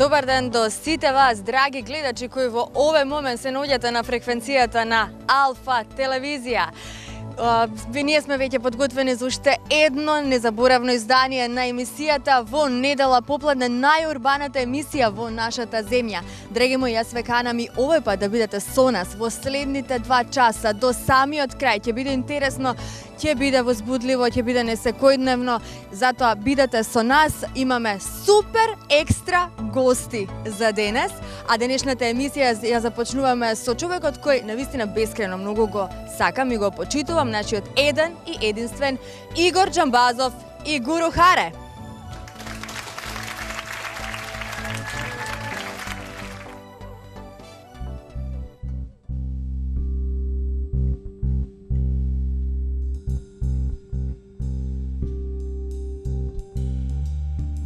Добар ден до сите вас, драги гледачи кои во овој момент се наоѓате на фреквенцијата на Алфа телевизија. Ние сме веќе подготвени за уште едно незаборавно издание на емисијата во недела попладне, најурбаната емисија во нашата земја. Драги мои, јас ве канам и овој пат да бидете со нас во следните 2 часа до самиот крај. Ќе биде интересно, ќе биде возбудливо, ќе биде несекојдневно, затоа бидете со нас. Имаме супер екстра гости за денес, а денешната емисија ја започнуваме со човекот кој навистина бескрено многу го сакам и го почитувам, нашиот еден и единствен Игор Џамбазов и Гуру Харе.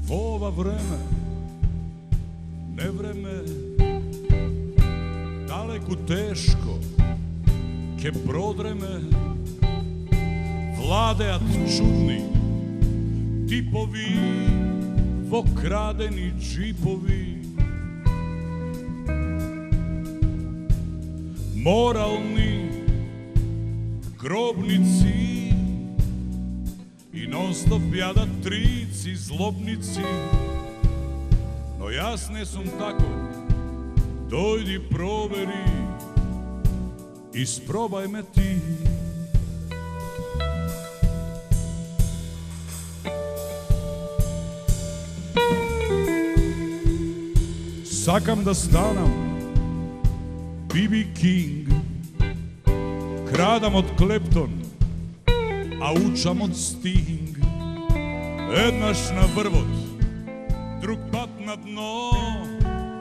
Во ова време, не време, далеку тешко, ке продреме, владеат чудни типови во крадени джипови. Морални гробници и нон-стоп јадат трици злобници. Но јас не сум тако, дојди провери, испробај ме ти. Сакам да станам Би.Би. Кинг, крадам од Клептон, а учам од Стинг. Еднаш на врвот, друг пат на дно,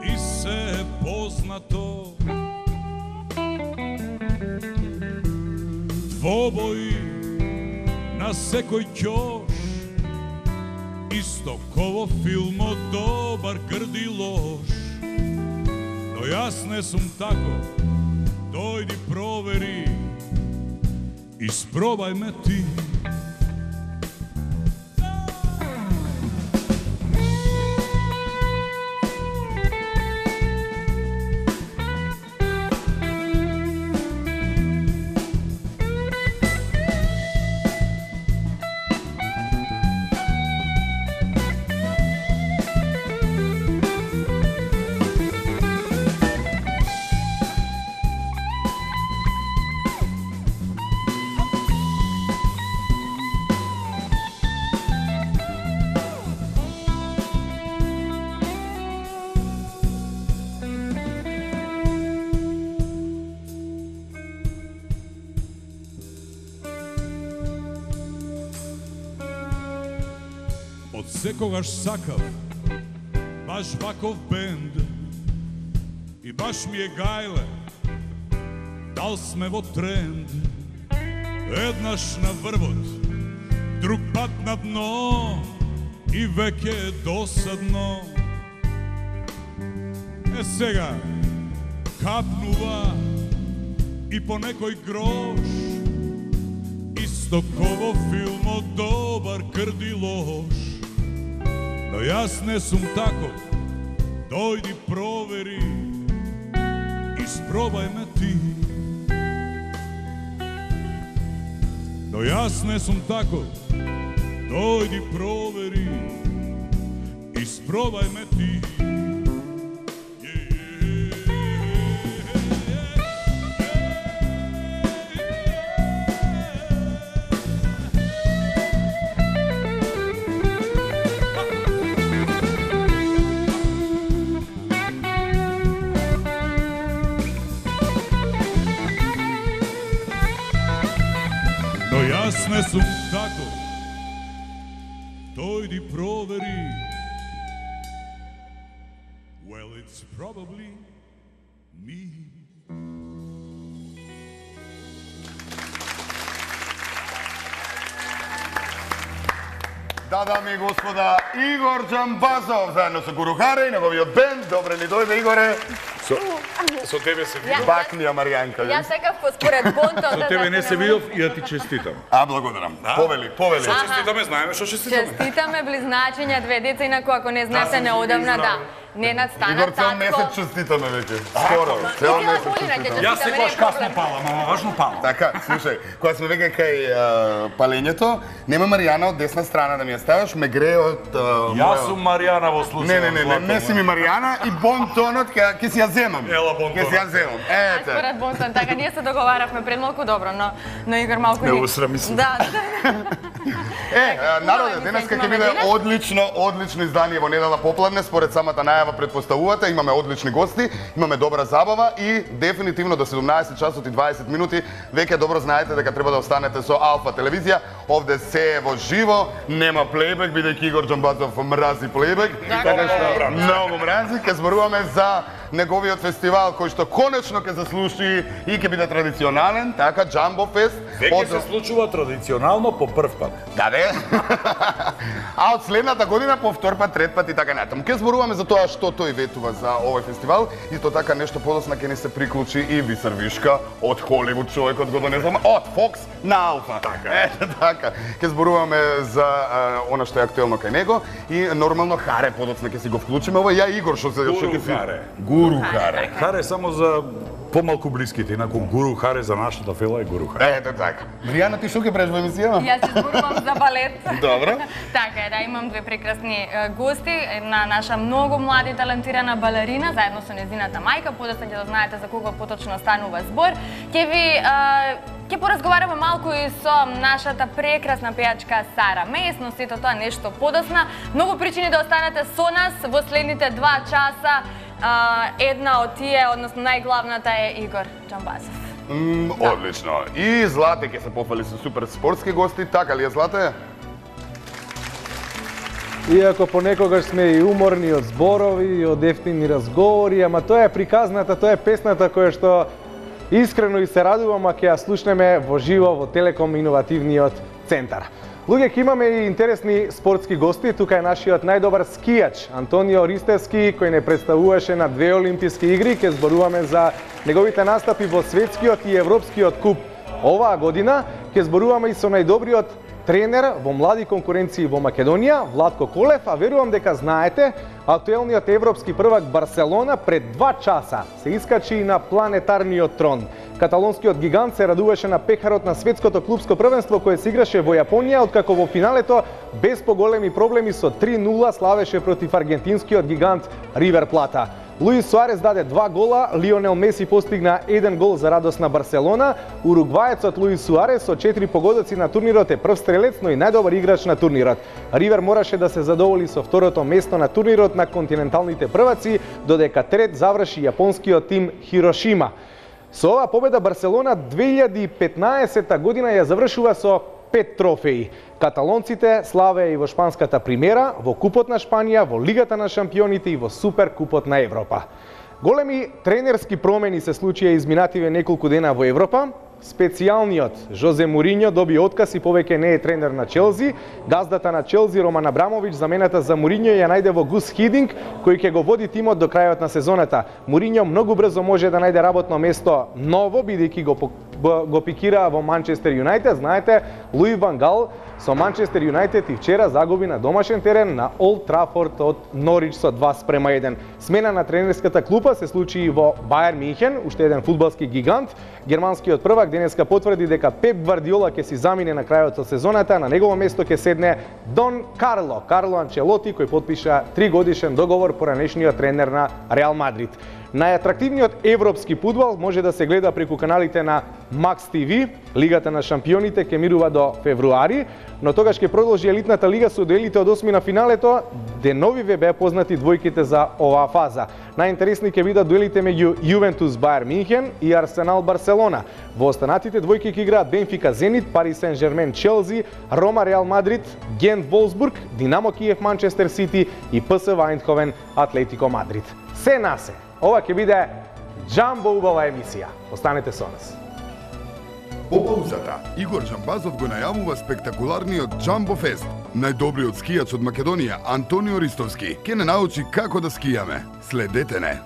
и се е познато. Двобои на секој ќош, исто ко во филмот добар грди лош. Но јас не сум тако, дојди провери, испробај ме ти. Од секогаш сакав баш ваков бенд и баш ми е гајле дал сме во тренд. Еднаш на врвот, друг пат на дно и веќе е досадно. Е сега капнува и по некој грош, исто ко во филмот добар крди лош. Но јас не сум тако, дојди провери, испробај ме ти. Но јас не сум тако, дојди провери, испробај ме ти. Јас не сум тако, дојди провери. Well, it's probably me. Да, дами и господа, Игор Џамбазов заедно со Гуру Харе и неговиот бенд. Добре ли дојде, Игоре? Со тебе се видов. Бакнија Маријанка. Јас сакав според Бонтон. Со тебе не се видов и да ти честитам. Благодарам. Повели. Што честитаме, знаеме што честитаме. Честитаме близначиња, 2 деца, инаку ако не знаете неодамна, да. Ненад стана Игор, цел татко. месец честитаме веќе. Скоро, цел Цела месец година ќе честитаме. Јас секогаш касно палам, ама важно палам. Така, слушај, кога сме веќе кај палењето, нема Маријана од десна страна да ми ја ставаш, ме грее од Јас сум Маријана во случај. Не си ми Маријана и бонтонот ќе си ја земам. Ела бонтонот. Ќе си ја земам. Ете. Според Бонтон, така ние се договаравме пред малку добро, но Игор малку Не усрами се. Да. Народе, денеска ќе биде одлично издание во недела попладне, според самата најава предпоставувате, имаме одлични гости, имаме добра забава и дефинитивно до 17 часот и 20 минути веќе добро знаете дека треба да останете со Алфа телевизија. Овде се е во живо, нема плейбек, бидејќи Игор Џамбазов мрази плейбек, така што многу мрази. Ќе зборуваме за неговиот фестивал кој што конечно ќе заслуши и ќе биде традиционален, така Джамбо Фест. Веќе се случува традиционално по прв пат. Да, де. А од следната година по втор пат, трет пат и така натаму. Ке зборуваме за тоа што тој ветува за овој фестивал и тоа така нешто подосна ќе ни се приклучи и Висар Вишка од Холивуд, човекот го донесуваме од Фокс на Алфа. Така. Ете така. Ке зборуваме за она што е актуелно кај него и нормално Харе подоцна ќе си го вклучиме. Ова ја Игор што ќе си Харе. Гуру Харе. Харе само за помалку блиските, инаку Гуру Харе за нашата фела е Гуру Харе. Ете така. Маријана, ти што ќе правиш во емисијава? Јас се зборувам за балет. Добро. Така е, да, имам две прекрасни гости, една наша многу млада и талентирана балерина, заедно со нејзината мајка, подоцна ќе да знаете за кого поточно станува збор. Ќе поразговараме малку и со нашата прекрасна пејачка Сара Мејс, но сето тоа нешто подосна. Многу причини да останете со нас во следните 2 часа. Една од тие, односно најглавната е Игор Џамбазов. Одлично. И Злате ќе се пофали со супер спортски гости, така ли е Злате? Иако понекогаш сме и уморни од зборови и од ефтини разговори, ама тоа е приказната, тоа е песната која што искрено и се радувам ако ја слушнеме во живо во Телеком Иновативниот центар. Луѓе, ќе имаме и интересни спортски гости. Тука е нашиот најдобар скијач Антонио Ристевски, кој не представуваше на 2 олимписки игри. Ќе зборуваме за неговите настапи во светскиот и европскиот куп оваа година. Ќе зборуваме и со најдобриот тренер во млади конкуренции во Македонија, Владко Колев, а верувам дека знаете, актуелниот европски првак Барселона пред 2 часа се искачи на планетарниот трон. Каталонскиот гигант се радуваше на пехарот на светското клубско првенство кое се играше во Јапонија, откако во финалето без поголеми проблеми со 3-0 славеше против аргентинскиот гигант Ривер Плата. Луис Суарес даде 2 гола, Лионел Меси постигна 1 гол за радост на Барселона. Уругваецот Луис Суарес со 4 погодоци на турнирот е прв стрелец, но и најдобар играч на турнирот. Ривер мораше да се задоволи со второто место на турнирот на континенталните прваци, додека трет заврши јапонскиот тим Хирошима. Со оваа победа Барселона 2015 година ја завршува со 5 трофеи. Каталонците славеа и во шпанската примера, во Купот на Шпанија, во Лигата на шампионите и во Суперкупот на Европа. Големи тренерски промени се случија изминативе неколку дена во Европа. Специјалниот Жозе Мориньо доби отказ и повеќе не е тренер на Челси. Газдата на Челси Роман Абрамович замената за Мориньо ја најде во Гус Хидинг, кој ќе го води тимот до крајот на сезоната. Мориньо многу брзо може да најде работно место ново, бидејќи го пикира во Манчестер Юнајтед. Знаете, Луи Ван Гал со Манчестер Юнајтед и вчера загуби на домашен терен на Олд Трафорд од Норич со 2:1. Смена на тренерската клупа се случи и во Бајер Минхен, уште еден фудбалски гигант. Германскиот првак денеска потврди дека Пеп Гвардиола ќе си замине на крајот од сезоната, на негово место ќе седне Дон Карло Анчелоти, кој потпиша 3-годишен договор поранешниот тренер на Реал Мадрид. Најатрактивниот европски фудбал може да се гледа преку каналите на Max TV. Лигата на шампионите ќе мирува до февруари, но тогаш ќе продолжи елитната лига со дуелите од 8 на финалето. Денови ве беа познати двојките за оваа фаза. Најинтересни ќе бидат дуелите меѓу Јувентус Бајер Минхен и Арсенал Барселона. Во останатите двојки ќе играат Бенфика Зенит, Пари Сен-Жермен Челси, Рома Реал Мадрид, Гент Волсбург, Динамо Киев Манчестер Сити и ПСВ Ајндховен Атлетико Мадрид. Се на се. Ова ќе биде џамбо убава емисија. Останете со нас. По паузата, Игор Џамбазов го најавува спектакуларниот Джамбо Фест. Најдобриот скијач од Македонија, Антонио Ристовски, ќе не научи како да скијаме. Следете не.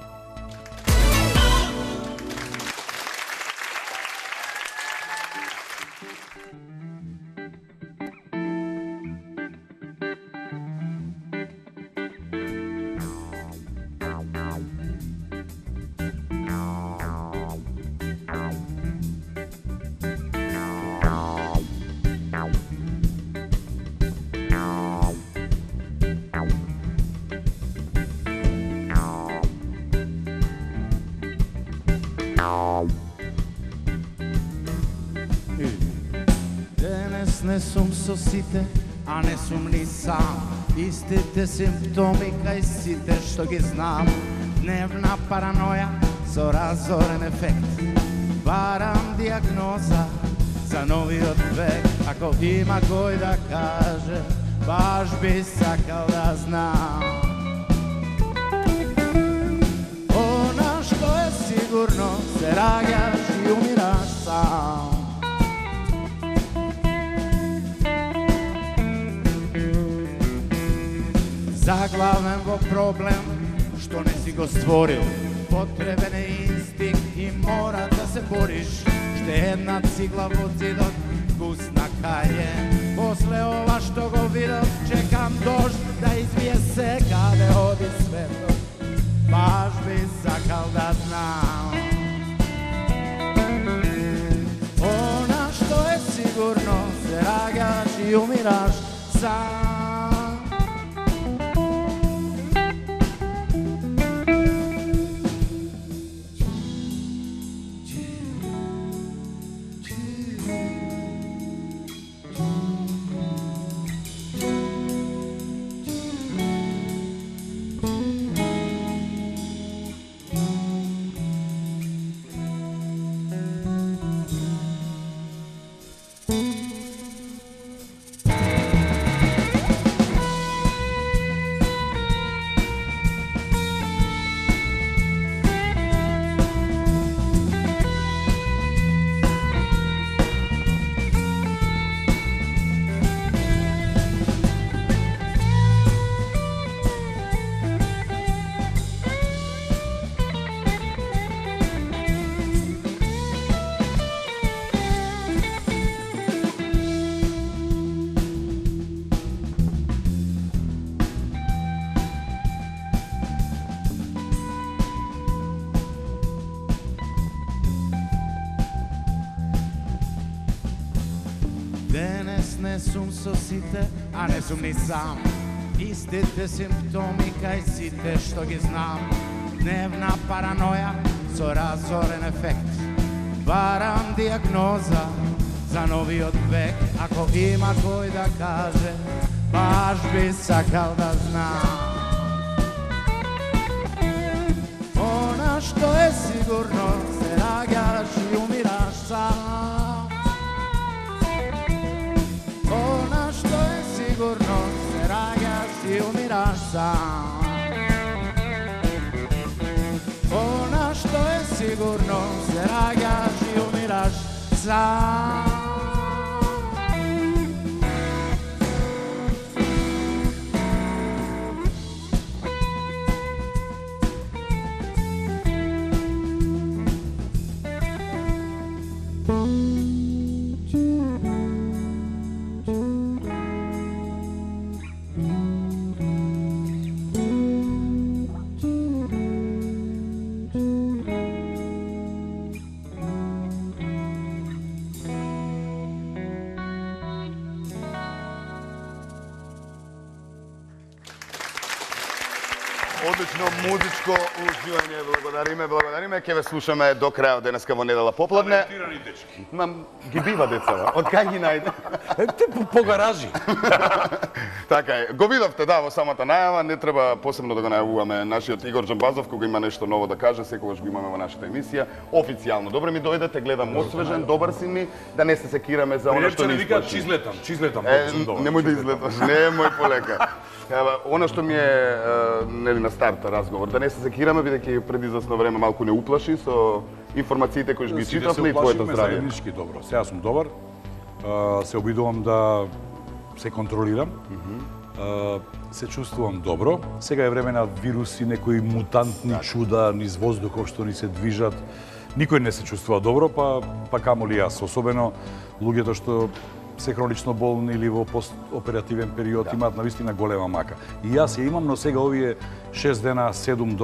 не сум со сите, а не сум ни сам. Истите симптоми кај сите што ги знам. Дневна параноја со разорен ефект. Барам диагноза за новиот век. Ако има кој да каже, баш би сакал да знам. Она што е сигурно, се раѓаш и умираш сам. Заглавен во проблем што не си го створил. Потребен е инстинкт и мора да се бориш. Ште една цигла во зидот, вкусна каје. После ова што го видов, чекам дожд да извие се каде оди светот. Баш би сакал да знам. Она што е сигурно, се раѓаш и умираш сам. Денес не сум со сите, а не сум ни сам. Истите симптоми кај сите што ги знам. Дневна параноја со разорен ефект. Барам диагноза за новиот век. Ако има кој да каже, баш би сакал да знам. Она што е сигурно, се раѓаш и умираш сам. Она што е сигурно, се раѓаш и умираш сам. Она што е сигурно, се раѓаш и умираш сам. Одлично музичко уживање, благодариме. Ке ве слушаме до крајот денеска во недела попладне. Талентирани дечки. Ги бива децава. Од кај ги најде? Те по гаражи. Така е. Го видовте, да, во самата најава, не треба посебно да го најавуваме нашиот Игор Џамбазов, кога има нешто ново да каже, секогаш го имаме во нашата емисија. Официјално. Добре ми дојдете, гледам освежен, добар си ми, да не се секираме за она што ни исплаши. Чизлетам. Немој да излеташ, немој полека. Она што ми е нели на старта разговор, да не се секираме, бидејќи преди известно време малку не уплаши со информациите кои ги читавме и твоето здравје. Заеднички добро. Сега сум добар. Се обидувам да се контролирам. Се чувствувам добро. Сега е време на вируси, некои мутантни чуда низ воздухов што ни се движат. Никој не се чувствува добро, па камоли јас, особено луѓето што се хронично болни или во постоперативен период имаат навистина голема мака. И јас ја имам, но сега овие 6 дена, 7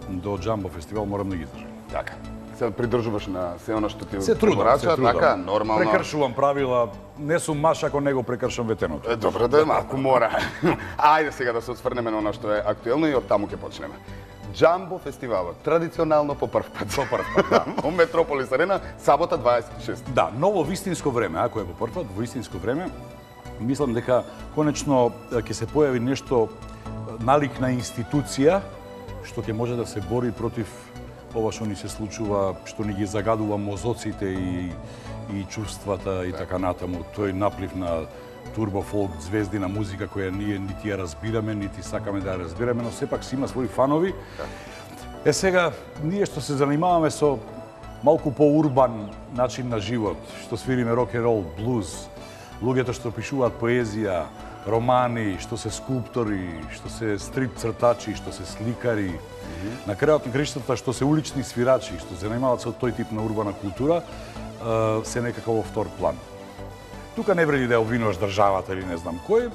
до Джамбо фестивал морам да ги издржам. Така. Се придржуваш на се она што ти се трудам. така, нормално. Прекршувам правила, не сум маш ако не го прекршам ветеното. Добро да е, малку мора. Ајде сега да се осврнеме на она што е актуелно и од таму ќе почнеме. Джамбо фестивалот, традиционално по прв пат. По прв пат, да. Во Метрополис Арена, сабота 26. Да, ново вистинско време, ако е по прв пат, во истинско време, мислам дека конечно ќе се појави нешто налик на институција што ќе може да се бори против ова што ни се случува, што ни ги загадува мозоците и чувствата и така натаму. Тој наплив на турбофолк, звездина музика која ние нити ја разбираме, нити сакаме да ја разбираме, но сепак си има своји фанови. Сега, ние што се занимаваме со малку по-урбан начин на живот, што свириме рок-н-рол, блуз, луѓето што пишуваат поезија, романи, што се скулптори, што се стрип цртачи, што се сликари, на крајот на краиштата што се улични свирачи, што се занимаваат со тој тип на урбана култура, се некако во втор план. Тука не вреди да ја обвинуваш државата или не знам кој,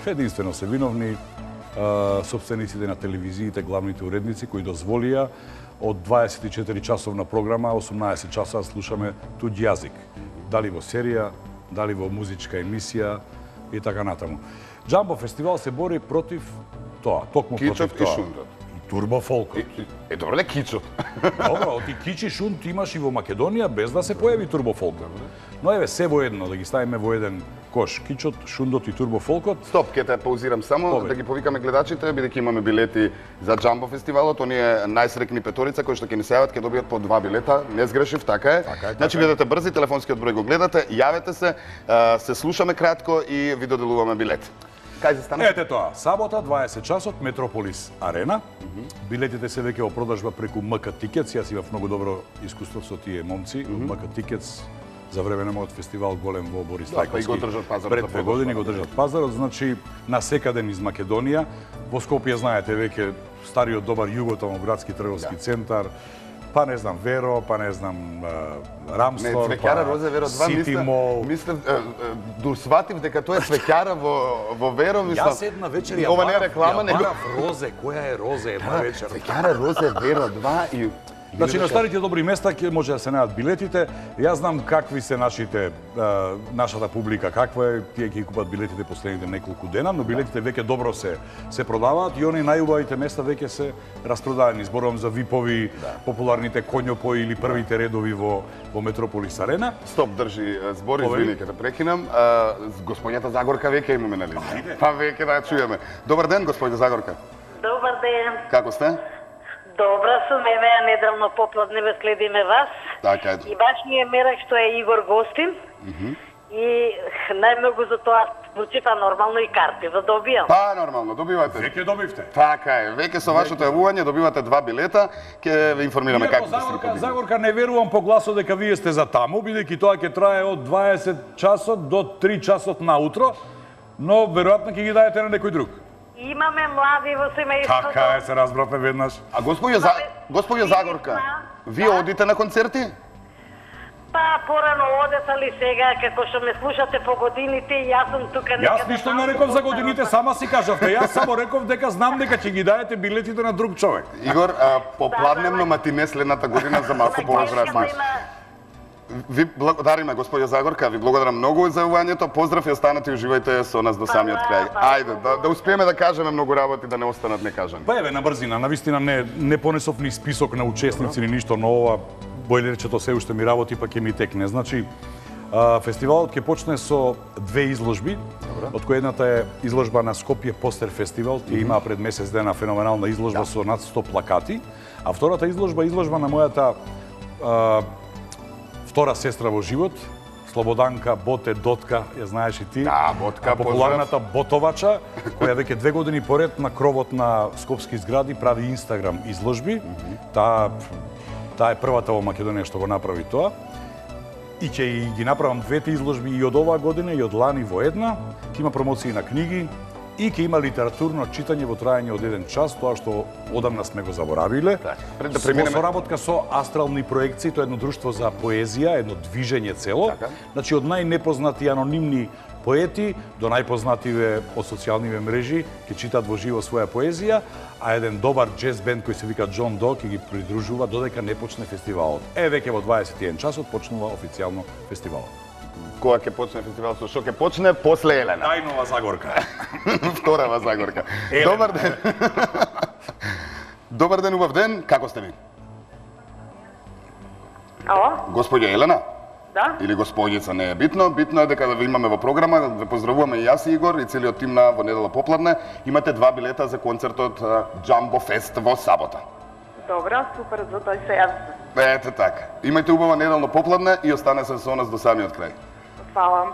единствено се виновни собствениците на телевизиите, главните уредници кои дозволија од 24 часовна програма 18 часа слушаме туѓ јазик. Дали во серија, дали во музичка емисија и така натаму. Джамбо фестивал се бори против тоа, токму против тоа. Кичот и шунтот. И турбофолкот. Добро ле кичот. Добро, ти кич и шунт имаш и во Македонија без да се појави турбофолкот. Но еве се во едно, да ги ставиме во еден кош. Кичот, шундот и турбофолкот. Стоп, ќе те паузирам само да ги повикаме гледачите, бидејќи имаме билети за Джамбо фестивалот. Оние најсрекни петорица кои што ќе ни се јават ќе добијат по 2 билета. Не сгрешив, така е. Значи бидете брзи, телефонскиот број го гледате, јавете се слушаме кратко и ви доделуваме билет. Кај се стана? Ете тоа, сабота 20 часот Метрополис Арена. Билетите се веќе во продажба преку МК Тикетс. Јас имав многу добро искуство со тие момци. МК Тикетс за време на мојот фестивал голем во Борис Тајковски. Пред 2 години го држат пазарот, значи насекаде низ Македонија. Во Скопје знаете веќе стариот добар Југотомоградски трговски центар. Па не знам Веро, па не знам Рамстор, Цвеќара Розе Веро 2, Сити Мол. Мислев, сватив дека тоа е цвеќара во Веро, мислам. Јас една вечер ја ова не е реклама, него барав Розе, која е Розе една вечер. Цвеќара Розе Веро 2 и Значи на старите добри места ќе може да се најдат билетите. Јас знам какви се нашата публика, каква е, тие ќе купат билетите последните неколку дена, но билетите веќе добро се продаваат и они најубавите места веќе се распродадени. Зборувам за випови, популарните коњопои или првите редови во Метрополис Арена. Стоп, држи збор, извини, ќе те прекинам. Господјата Загорка веќе имаме на линија. Па веќе да ја чуеме. Добар ден, господјата Загорка. Добар ден. Како сте? Добра сум, еве ја неделно попладне ве следиме вас. Така е. И баш ми е мерак што е Игор гостин. И најмногу за тоа звучи, нормално и карти да добијам. Па, нормално, добивате. Веќе добивте. Така е, веќе со вашето јавување добивате 2 билета, ќе ве информираме како ќе се Загорка, не верувам по гласот дека вие сте за таму, бидејќи тоа ќе трае од 20 часот до 3 часот наутро, но веројатно ќе ги дадете на некој друг. Имаме млади во семејството. Така е, се разбравме веднаш. А господја Загорка, вие одите на концерти? Па, порано одес, али сега, како што ме слушате по годините, јас сум тука некаде. Јас ништо не реков за годините, сама си кажавте. Јас само реков дека знам дека ќе ги дадете билетите на друг човек. Игор, попладневно матине следната година за малку повозрастни. Ви благодариме, господја Загорка, ви благодарам многу за јавувањето. Поздрав и останете и уживајте со нас до самиот крај. Ајде, да успееме да кажеме многу работи, да не останат некажани. Па еве на брзина, навистина не понесов ни список на учесници ни ништо, но ова бојлерчето се уште ми работи, па ќе ми текне. Значи, фестивалот ќе почне со 2 изложби, од која едната е изложба на Скопје Постер фестивал, тие имаа пред месец дена феноменална изложба со над 100 плакати, а втората изложба на мојата втора сестра во живот, Слободанка Боте Дотка, ја знаеш и ти. Да, Ботка, популарната ботовача, која веќе 2 години поред на кровот на скопски згради прави Инстаграм изложби. Таа е првата во Македонија што го направи тоа. И ќе ги направам 2 изложби и од оваа година и од лани во една. Ќе има промоции на книги и ќе има литературно читање во трајање од 1 час, тоа што одамна сме го заборавиле. Во соработка со Астрални проекции, тоа е едно друштво за поезија, едно движење цело. Значи од најнепознати анонимни поети до најпознативе од социјалниве мрежи ќе читат во живо своја поезија, а еден добар джез бенд кој се вика Джон До ќе ги придружува додека не почне фестивалот. Веќе во 21 часот почнува официјално фестивалот. Кога ќе почне фестивалот, со што ќе почне после Елена? Најнова Загорка. Вторава Загорка. Добар ден. Добар ден, убав ден, како сте ви? Ало? Господја Елена? Да? Или господица, не е битно. Битно е дека да ви имаме во програма, да поздравуваме и јас и Игор и целиот тим на Во недела попладне. Имате 2 билета за концертот Jumbo Fest во сабота. Добро, супер, за тој се јавите. Ете така. Имајте убава неделно попладне и остане се со нас до самиот крај. Фала.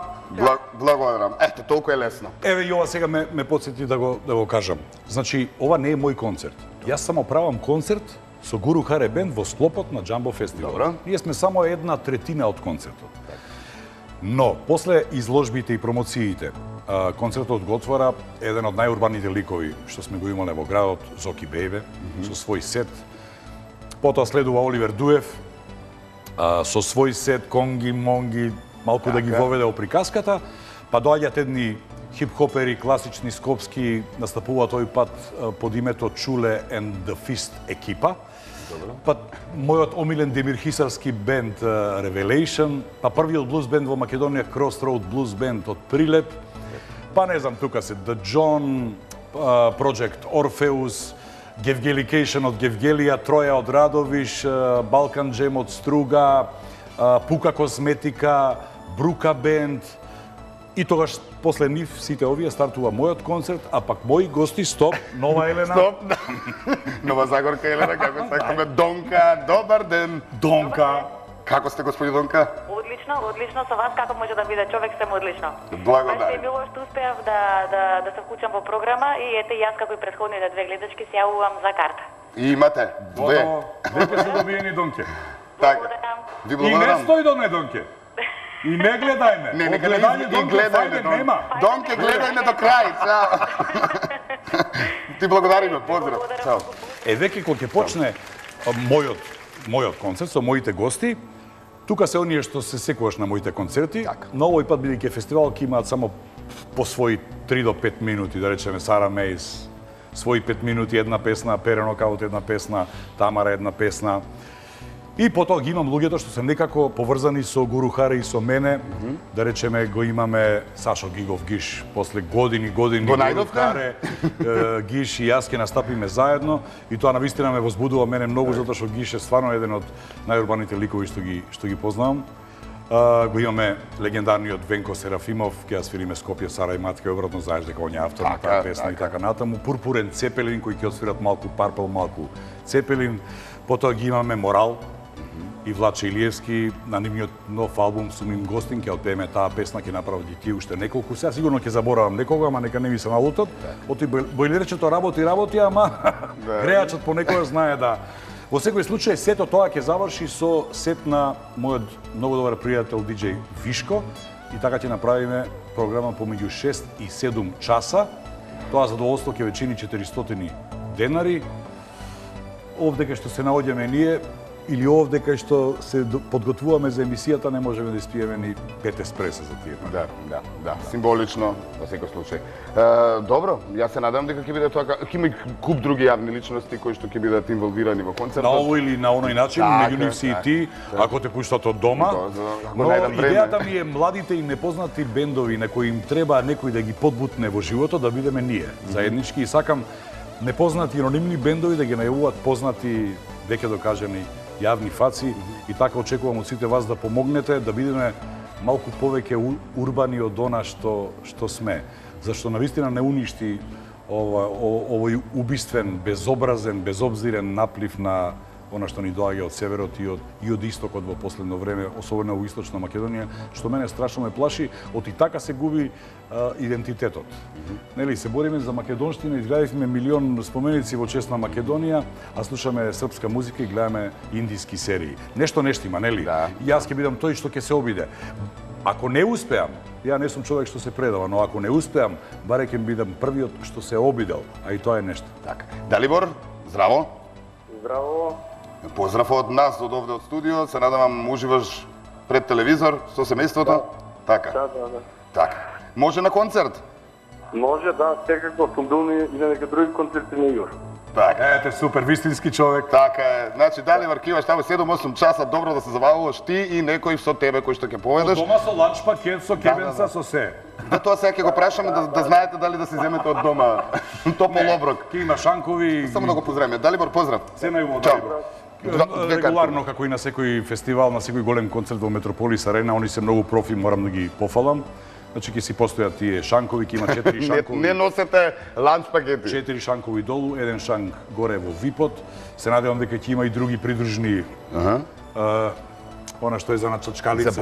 Благодарам. Ете, толку е лесно. Еве и ова сега ме потсети да го кажам. Значи, ова не е мој концерт. Јас само правам концерт со Гуру Харе Бенд во склопот на Jumbo Фестивал. Добро. Ние сме само 1/3 од концертот. Но, после изложбите и промоциите, концертот го отвора еден од најурбаните ликови што сме го имале во градот, Зоки Бејбе, со свој сет. Потоа следува Оливер Дуев, со свој сет, Конги, Монги, малку да ги воведе во приказката, па доаѓаат едни хип-хопери, класични, скопски, настапуваат тој пат под името Чуле and the Fist екипа. Па мојот омилен Демир Хисарски бенд Revelation, па првиот блуз бенд во Македонија Crossroad Blues Band од Прилеп, па не знам, тука се The John, Project Orpheus, Gevgelication од Gevgelија, Троја од Радовиш, Balkan Jam од Струга, Пука Косметика, Брука Бенд. И тогаш после нив сите овие стартува мојот концерт, а пак мои гости Нова Елена. Стоп, да. Нова Загорка Елена, како сакаме. Донка, добар ден. Донка. Како сте, господи Донка? Одлично, со вас како може да биде човек сте одлично. Благодарам. Баш е било што успеав да се вклучам во програма и ете јас како и претходните 2 гледачки се јавувам за карта. И имате 2. Веќе се добиени Донке. Така. Благодарам. Ви И не благодарам. стои до ме, Донке. И не гледај ме. Не, нека Гледање не Донке, гледајме фајде нема. Донке, гледајме до крај. Чао. Ти благодариме, поздрав. Чао. Веќе кога ќе почне мојот концерт со моите гости, тука се оние што се секогаш на моите концерти, но овој пат бидејќи фестивал ќе имаат само по своји 3 до 5 минути, да речеме Сара Мейс, своји 5 минути една песна, Перено Каут една песна, Тамара една песна. И потоа ги имам луѓето што се некако поврзани со Гуру Харе и со мене. Да речеме го имаме Сашо Гигов Гиш, после години Го Гуру најдовте? Харе, Гиш и јас ќе настапиме заедно и тоа навистина ме возбудува мене многу затоа што Гиш е стварно еден од најурбаните ликови што ги познавам. Го имаме легендарниот Венко Серафимов, ќе ја свириме Скопје, Сара и Матка, обратно знаеш дека он е автор на таа песна и така натаму. Пурпурен Цепелин кој ќе отсвират малку Парпел, малку Цепелин. Потоа ги имаме Морал и Влаче Илиевски, на нивниот нов албум сум им гостин, ќе отпееме таа песна, ќе направат ги тие уште неколку. Сега сигурно ќе заборавам некога, ама нека не ми се налутат. Оти бојлерчето работи, ама греачот понекогаш знае да. Во секој случај, сето тоа ќе заврши со сет на мојот многу добар пријател диџеј Вишко и така ќе направиме програма помеѓу 6 и 7 часа. Тоа задоволство ќе ве чини 400 денари. Овде кај што се наоѓаме ние, или овде кај што се подготвуваме за емисијата, не можеме да испиеме ни 5 еспреса за тие. Да, символично во секој случај. Добро, јас се надам дека ќе биде тоа, ќе има и куп други јавни личности кои што ќе бидат инволвирани во концертот. На овој или на оној начин, меѓу нив си и ти, ако те пуштат од дома. Но идејата ми е младите и непознати бендови на кои им треба некој да ги подбутне во животот, да бидеме ние, заеднички, и сакам непознати анонимни бендови да ги најавуваат познати, веќе докажани јавни фаци, и така очекувам од сите вас да помогнете да бидеме малку повеќе урбани од она што сме. Зашто навистина не уништи овој убиствен, безобразен, безобзирен наплив на она што ни доаѓа од северот и од истокот во последно време, особено во Источна Македонија, што мене страшно ме плаши, оти така се губи идентитетот. Нели, се бориме за македонштина, изградивме милион споменици во чест на Македонија, а слушаме српска музика и гледаме индиски серии. Нешто има, нели? Да. И јас ќе бидам тој што ќе се обиде. Ако не успеам, ја не сум човек што се предава, но ако не успеам, баре ќе бидам првиот што се обидел, а и тоа е нешто. Така. Далибор, здраво. Здраво. Поздрав од нас, од овде од студио. Се надевам уживаш пред телевизор со семејството. Така. Да. Така. Може на концерт? Може, да, секако сум бил и на нека други концерти на Игор. Така. Ете, супер, вистински човек. Така е. Значи, дали варкиваш таму 7-8 часа, добро да се забавуваш ти и некој со тебе кој што ќе поведеш. Дома со ланч пакет, со кебенца, со се. За тоа сега ќе го прашаме да знаете дали да се земете од дома топол оброк. Ке има шанкови. Само да го поздравиме. Далибор, поздрав. Се најубаво, Чао. Далибор. Регуларно, како и на секој фестивал, на секој голем концерт во Метрополис Арена, они се многу профи, морам да ги пофалам. Значи ќе си постојат тие шанкови, ќе има 4 шанкови. Не носете ланч пакети. 4 шанкови долу, еден шанк горе во випот. Се надевам дека ќе има и други придружни. Она што е за начачкалица, за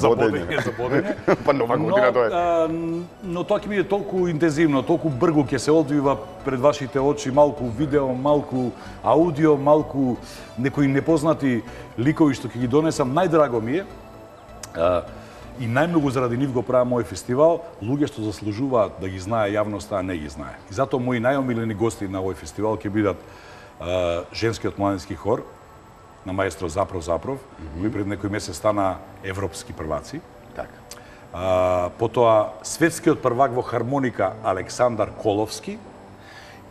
бодење. Па нова година тоа е. Но тоа ќе биде толку интензивно, толку брзо ќе се одвива пред вашите очи, малку видео, малку аудио, малку некои непознати ликови што ќе ги донесам. Најдраго ми е и најмногу заради нив го правам мој фестивал, луѓе што заслужуваат да ги знае јавноста, а не ги знае. И затоа мои најомилени гости на овој фестивал ќе бидат женскиот младински хор на маестро Запров, кој пред некој месец стана европски прваци. Така. Потоа светскиот првак во хармоника Александар Коловски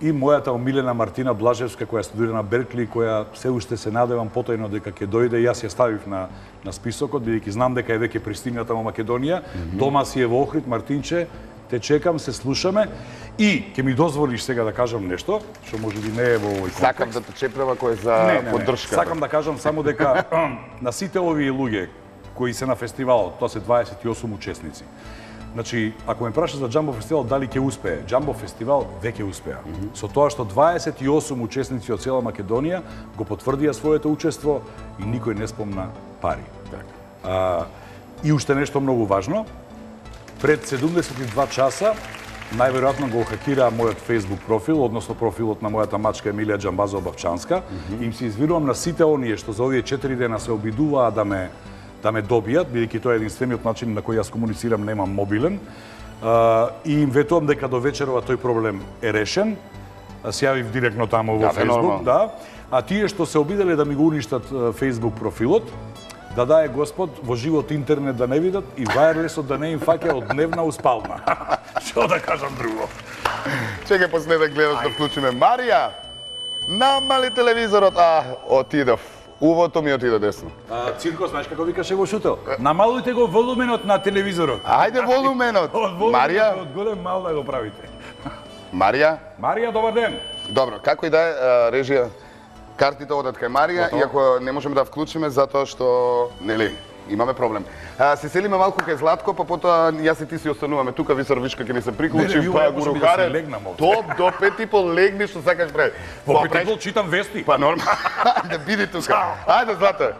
и мојата омилена Мартина Блажевска, која студира на Беркли, која се уште се надевам потајно дека ќе дојде. Јас ја ставив на списокот, бидејќи знам дека е веќе пристигната во Македонија. Дома си е во Охрид, Мартинче, те чекам, се слушаме. И ќе ми дозволиш сега да кажам нешто, што можеби не е во овој контекст. Сакам да те чепрева кој е за поддршка. Сакам да кажам само дека на сите овие луѓе кои се на фестивалот, тоа се 28 учесници. Значи, ако ме праша за Джамбо фестивал, дали ќе успее? Джамбо фестивал веќе успеа. Со тоа што 28 учесници од цела Македонија го потврдија своето учество и никој не спомна пари. И уште нешто многу важно. Пред 72 часа најверојатно го хакира мојот Facebook профил, односно профилот на мојата мачка Емилија Џамбазова Бавчанска. Им се извинувам на сите оние што за овие 4 дена се обидуваа да ме добијат, бидејќи тоа е единствениот начин на кој јас комуницирам, немам мобилен. И им ветувам дека до вечерова тој проблем е решен. Се јавив директно таму во Facebook, да. А тие што се обиделе да ми го уништат Facebook профилот, да дае Господ во живот интернет да не видат и вајрлесот да не им фаќа од дневна у спална. Што да кажам друго? Чекај после да гледаш да вклучиме. Марија, намали телевизорот. Отидов. Увото ми отиде десно. Цирко, знаеш како викаше во шутел? Намалујте го волуменот на телевизорот. Ајде волуменот. Марија, од голем мал да го правите. Марија, добар ден. добро, како и да е, режија, картите одат кај Марија, иако не можеме да вклучиме затоа што, нели, имаме проблем. Се селиме малку кај Златко, па потоа јас и ти си остануваме тука, Висарвичка ќе ни се приклучи, па го рукаре. Топ до 5:30 легни што сакаш прави. Во 5:30 читам вести. Па нормално. Да биди тука. Ајде Злата.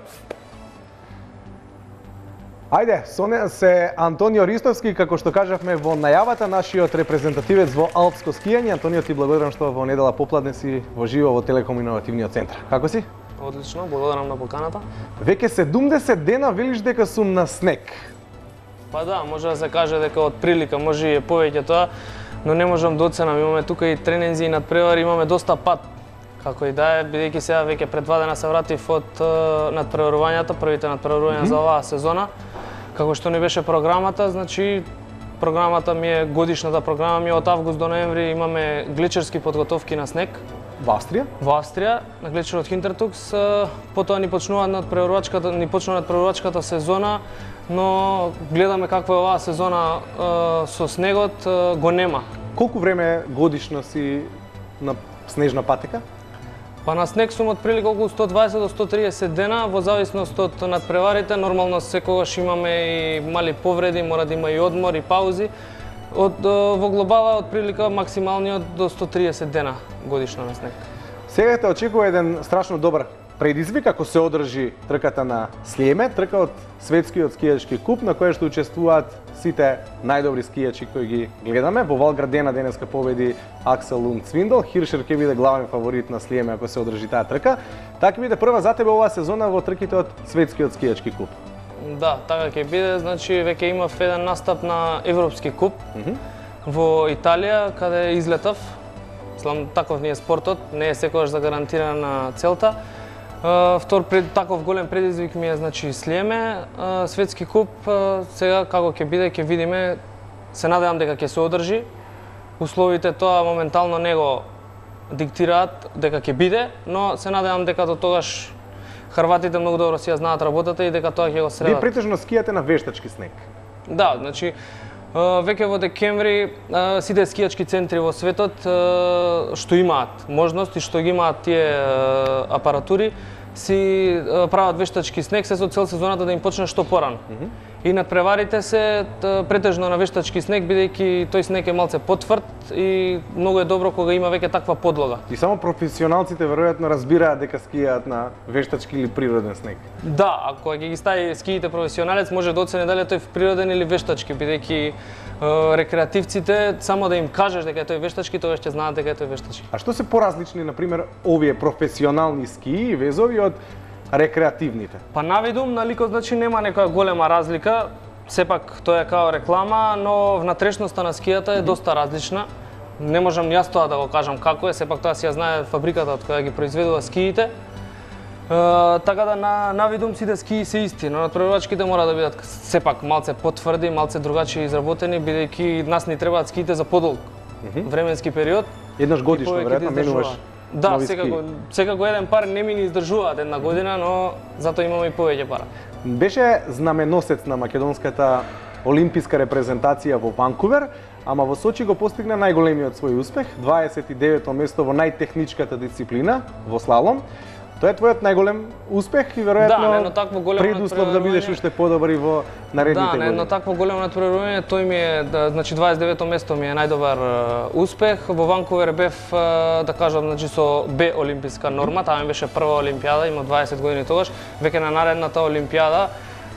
Ајде, со нас се Антонио Ристовски, како што кажавме во најавата, нашиот репрезентативец во алпско скијање. Антонио, ти благодарам што во недела попладне си во живо во Телеком Иновативниот центар. Како си? Одлично, благодарам на поканата. Веќе 70 дена велиш дека сум на снег. Па да, може да се каже дека од прилика, може и повеќе тоа, но не можам да оценам. Имаме тука и тренинзи и надпревари, имаме доста пат. Како и да е, бидејќи сега веќе пред 2 дена се вратив од надпреварувањата, првите надпреварувања за оваа сезона. Како што не беше програмата, значи програмата ми е годишната програма ми е од август до ноември, имаме гличерски подготовки на снег. Во Австрија? Во Австрија, на гличерот Хинтертукс, потоа ни почнува надпреварувачката сезона, но гледаме каква е оваа сезона со снегот, го нема. Колку време годишно си на снежна патека? Па на снег сум отприлика околу 120 до 130 дена, во зависност од надпреварите. Нормално секогаш имаме и мали повреди, мора да има и одмор и паузи. Во глобала отприлика максималниот до 130 дена годишно на снег. Сега те очекува еден страшно добар предизвик ако се одржи трката на Слиеме, трка од светскиот скијачки куп на која што учествуваат сите најдобри скијачи кои ги гледаме. Во Вал Градена денеска победи Аксел Лунд Цвиндел, Хиршер ќе биде главен фаворит на Слиеме ако се одржи таа трка. Така ќе биде прва за тебе оваа сезона во трките од светскиот скијачки куп. Да, така ќе биде, значи веќе имав еден настап на Европски куп во Италија, каде излетав. Слам, таков ни е спортот, не е секогаш загарантирана целта. Втор таков голем предизвик ми е, значи, Слиеме. Светски куп, сега како ќе биде, ќе видиме. Се надевам дека ќе се одржи. Условите тоа моментално диктираат дека ќе биде, но се надевам дека до тогаш хрватите многу добро си ја знаат работата и дека тоа ќе го средат. Вие претежно скијате на вештачки снег. Да, значи веќе во декември сите скијачки центри во светот што имаат можност и што ги имаат тие апаратури си прават вештачки снег се со цел сезоната да им почне што порано. И надпреварите се претежно на вештачки снег, бидејќи тој снег е малце потврд и многу е добро кога има веќе таква подлога. И само професионалците веројатно разбираат дека скијаат на вештачки или природен снег. Да, ако ќе ги стави скиите професионалец, може да оцени дали е тој природен или вештачки, бидејќи рекреативците само да им кажеш дека е тој вештачки, тогаш ќе знаат дека е тој вештачки. А што се поразлични, например, овие професионални скии и везови од рекреативните? Па навидум, на ликот, значи нема некоја голема разлика, сепак тоа е као реклама, но внатрешноста на скијата е доста различна. Не можам јас тоа да го кажам како е, сепак тоа си ја знае фабриката од која ги произведува скиите. Така да на видум сите скии се исти, но надпреварувачките мора да бидат сепак малце потврди, малце другачи изработени, бидејќи нас ни требаат скиите за подолг временски период. Еднаш годишно веројатно менуваш. Да, секако еден пар не ми ни издржуваат една година, но затоа имаме и повеќе пара. Беше знаменосец на македонската олимписка репрезентација во Ванкувер, ама во Сочи го постигна најголемиот свој успех, 29-то место во најтехничката дисциплина, во слалом. Тоа е твојот најголем успех и веројатно предуслов да бидеш уште подобар и во наредните години. Да, на едно такво големо натпреварување, тој ми е, значи 29-то место ми е најдобар успех. Во Ванкувер бев, да кажам, значи со Б олимписка норма, таа ми беше прва олимпијада, има 20 години тогаш. Веќе на наредната олимпијада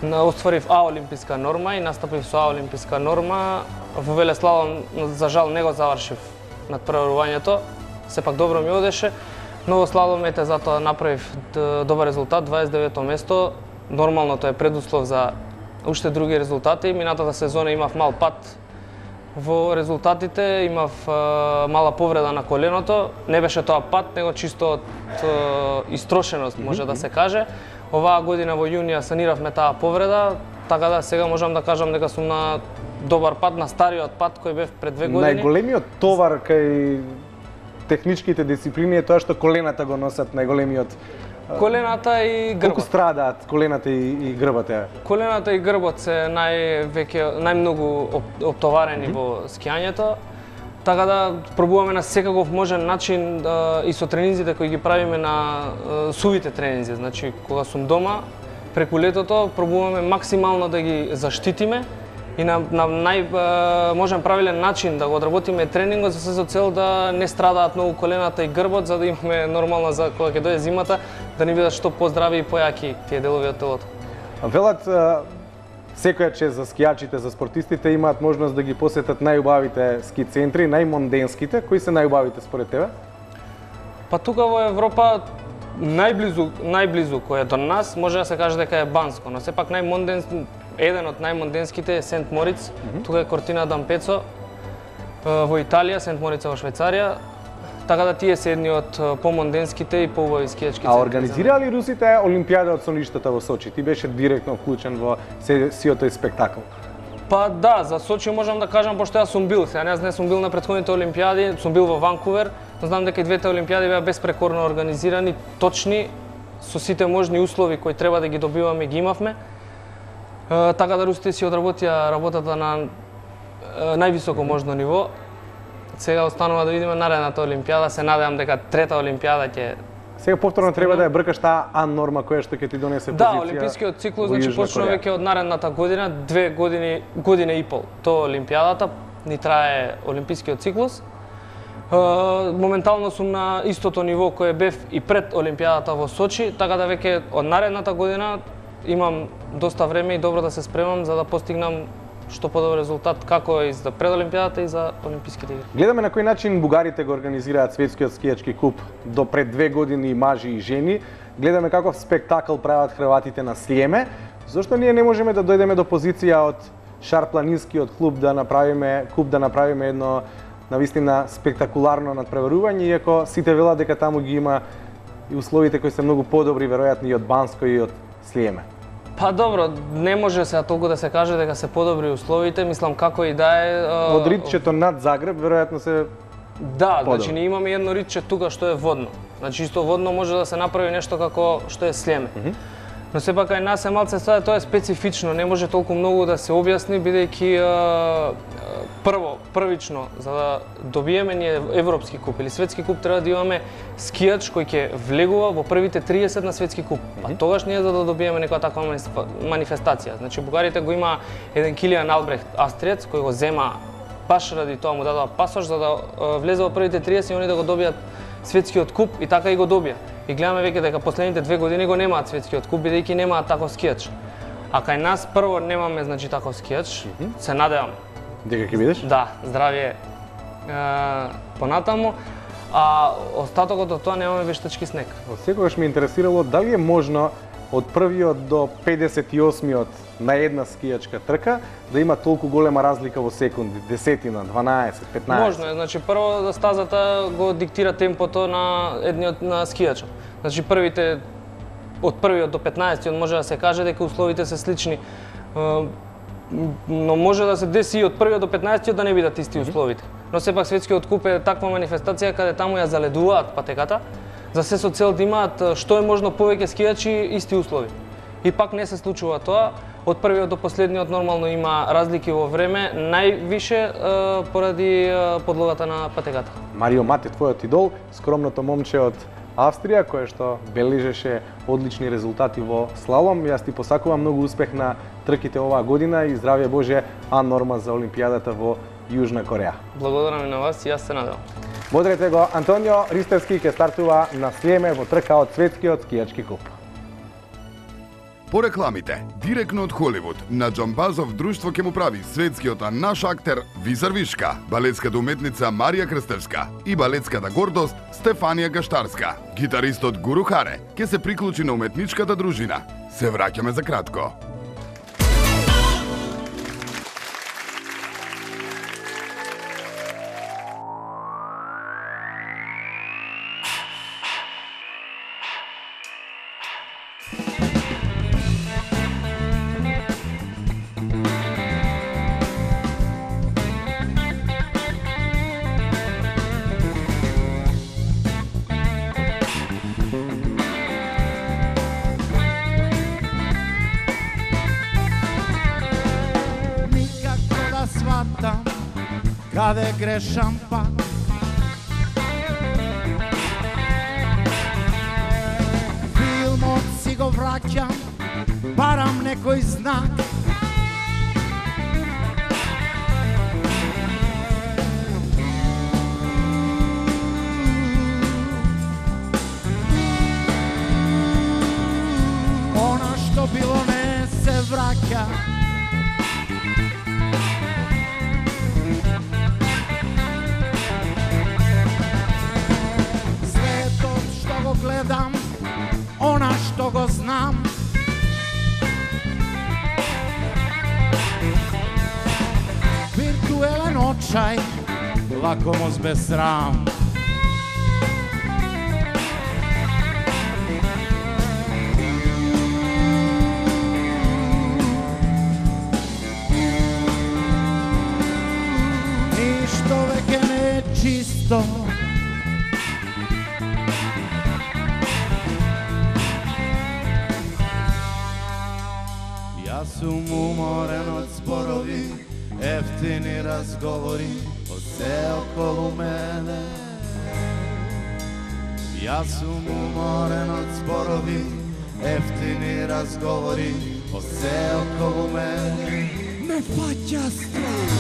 остварив А олимписка норма и настапив со А олимписка норма. Во велеслалом, за жал, не го завршив натпреварувањето, сепак добро ми одеше. Но во слалом ете затоа направив добар резултат, 29-то место. Нормално тоа е предуслов за уште други резултати. Минатата сезона имав мал пат во резултатите, имав мала повреда на коленото. Не беше тоа пат, него чисто од истрошеност, може да се каже. Оваа година во јуни ја саниравме таа повреда, така да сега можам да кажам дека сум на добар пат, на стариот пат кој бев пред 2 години. Најголемиот товар кај техничките дисциплини е тоа што колената го носат најголемиот. Колената и грбот. Колку страдаат колената и грбот? Колената и грбот се најмногу оптоварени во скијањето. Така да пробуваме на секаков можен начин и со тренинзите кои ги правиме на сувите тренинзи, значи кога сум дома преку летото пробуваме максимално да ги заштитиме и на можен правилен начин да го одработиме тренингот за се со цел да не страдаат многу колената и грбот, за да имаме нормално за кога ќе дојде зимата да ни бидат што поздрави и појаки тие делови од телото. Велат секоја чест за скијачите, за спортистите имаат можност да ги посетат најубавите ски центри, најмонденските. Кои се најубавите според тебе? Па тука во Европа најблизу кој е до нас може да се каже дека е Банско, но сепак еден од најмонденските е Сент Мориц, тука е Кортина d'Ampezzo во Италија, Сент Морица во Швајцарија. Така да тие се едни од помонденските и поубави скијачки центри. А организираа ли русите Олимпијада од соништата во Сочи? Ти беше директно вклучен во сиот тој спектакл. Па да, за Сочи можам да кажам, пошто јас сум бил. Сега не сум бил на претходните Олимпијади, сум бил во Ванкувер, но знам дека и двете Олимпијади беа беспрекорно организирани, точни, со сите можни услови кои треба да ги добиваме, ги имавме. Така да русите си одработија работата на највисоко можно ниво. Сега останува да видиме наредната Олимпијада, се надевам дека трета Олимпијада ќе... Сега повторно треба да ја бркаш таа А норма која што ќе ти донесе позиција. Да, олимпискиот циклус значи почнува веќе од наредната година, 2 година и пол. Тоа Олимпијадата ни трае олимпискиот циклус. Моментално сум на истото ниво кое бев и пред Олимпијадата во Сочи, така да веќе од наредната година имам доста време и добро да се спремам за да постигнам што подобар резултат како и за пред Олимпијадата и за Олимписките игри. Гледаме на кој начин бугарите го организираат светскиот скијачки куп до пред 2 години мажи и жени. Гледаме каков спектакл прават хрватите на Слиеме. Зошто ние не можеме да дојдеме до позиција од Шарпланинскиот клуб да направиме едно навистина спектакуларно надпреварување, иако сите велат дека таму ги има и условите кои се многу подобри веројатно и од Банско и од Слиеме. Па добро, не може сега толку да се каже дека се подобри условите, мислам како и да е... Од Ридчето над Загреб веројатно се Да, значи ние имаме едно ритче тука што е водно. Значи исто водно може да се направи нешто како што е слеме. Но сепак кај нас е малце тоа е специфично, не може толку многу да се објасни бидејќи првично за да добиеме ние европски куп или светски куп треба да имаме скијач кој ќе влегува во првите 30 на светски куп. А тогаш ние за да добиеме некоја таква манифестација. Значи бугарите го има еден Килиан Албрехт австриец кој го зема баш ради тоа му дадоа пасош за да влезе во првите 30 и они да го добијат светскиот куп и така и го добија. И гледаме веќе дека последните 2 години го немаат светскиот куп бидејќи немаат таков скијач. А кај нас прво немаме значи таков скијач. Се надевам дека ќе бидеш? Да, здравје понатаму. А остатокот од тоа немаме вештачки снег. Секогаш ме интересирало дали е можно од првиот до 58-миот на една скијачка трка да има толку голема разлика во секунди, десетина, 12, 15. Можно е, значи прво да стазата го диктира темпото на едниот на скијачот. Значи од првиот до 15-тиот може да се каже дека условите се слични. Но може да се деси и од првиот до 15-тиот да не бидат исти условите. Но сепак светскиот куп е таква манифестација каде таму ја заледуваат патеката, за се со цел да имаат што е можно повеќе скијачи исти услови. И пак не се случува тоа. Од првиот до последниот нормално има разлики во време, највише поради подлогата на патеката. Марио Мате, твојот идол, скромното момче од Австрија, кое што бележеше одлични резултати во слалом. Јас ти посакувам многу успех на трките оваа година и здравје Боже, норма за Олимпијадата во Јужна Кореја. Благодарам и на вас и јас се надевам. Бодрете го, Антонио Ристевски ќе стартува на Слеме во трка од светскиот скијачки куп. По рекламите, директно од Холивуд, на Џамбазов друштво ќе му прави светскиот наш актер Визар Вишка, балетската уметница Марија Крстевска и балетската гордост Стефанија Гаштарска. Гитаристот Гуру Харе ќе се приклучи на уметничката дружина. Се враќаме за кратко. Каде грешам пак, филмот си го враќам, барам некој знак. Она што било не се враќа. Гледам, она што го знам. Виртуелен очај, лакомост без срам. Ништо веќе не е чисто. Јас сум уморен од зборови, ефтини разговори од се околу мене. Јас сум уморен од зборови, ефтини разговори од се околу мене. Ме фаќа страх.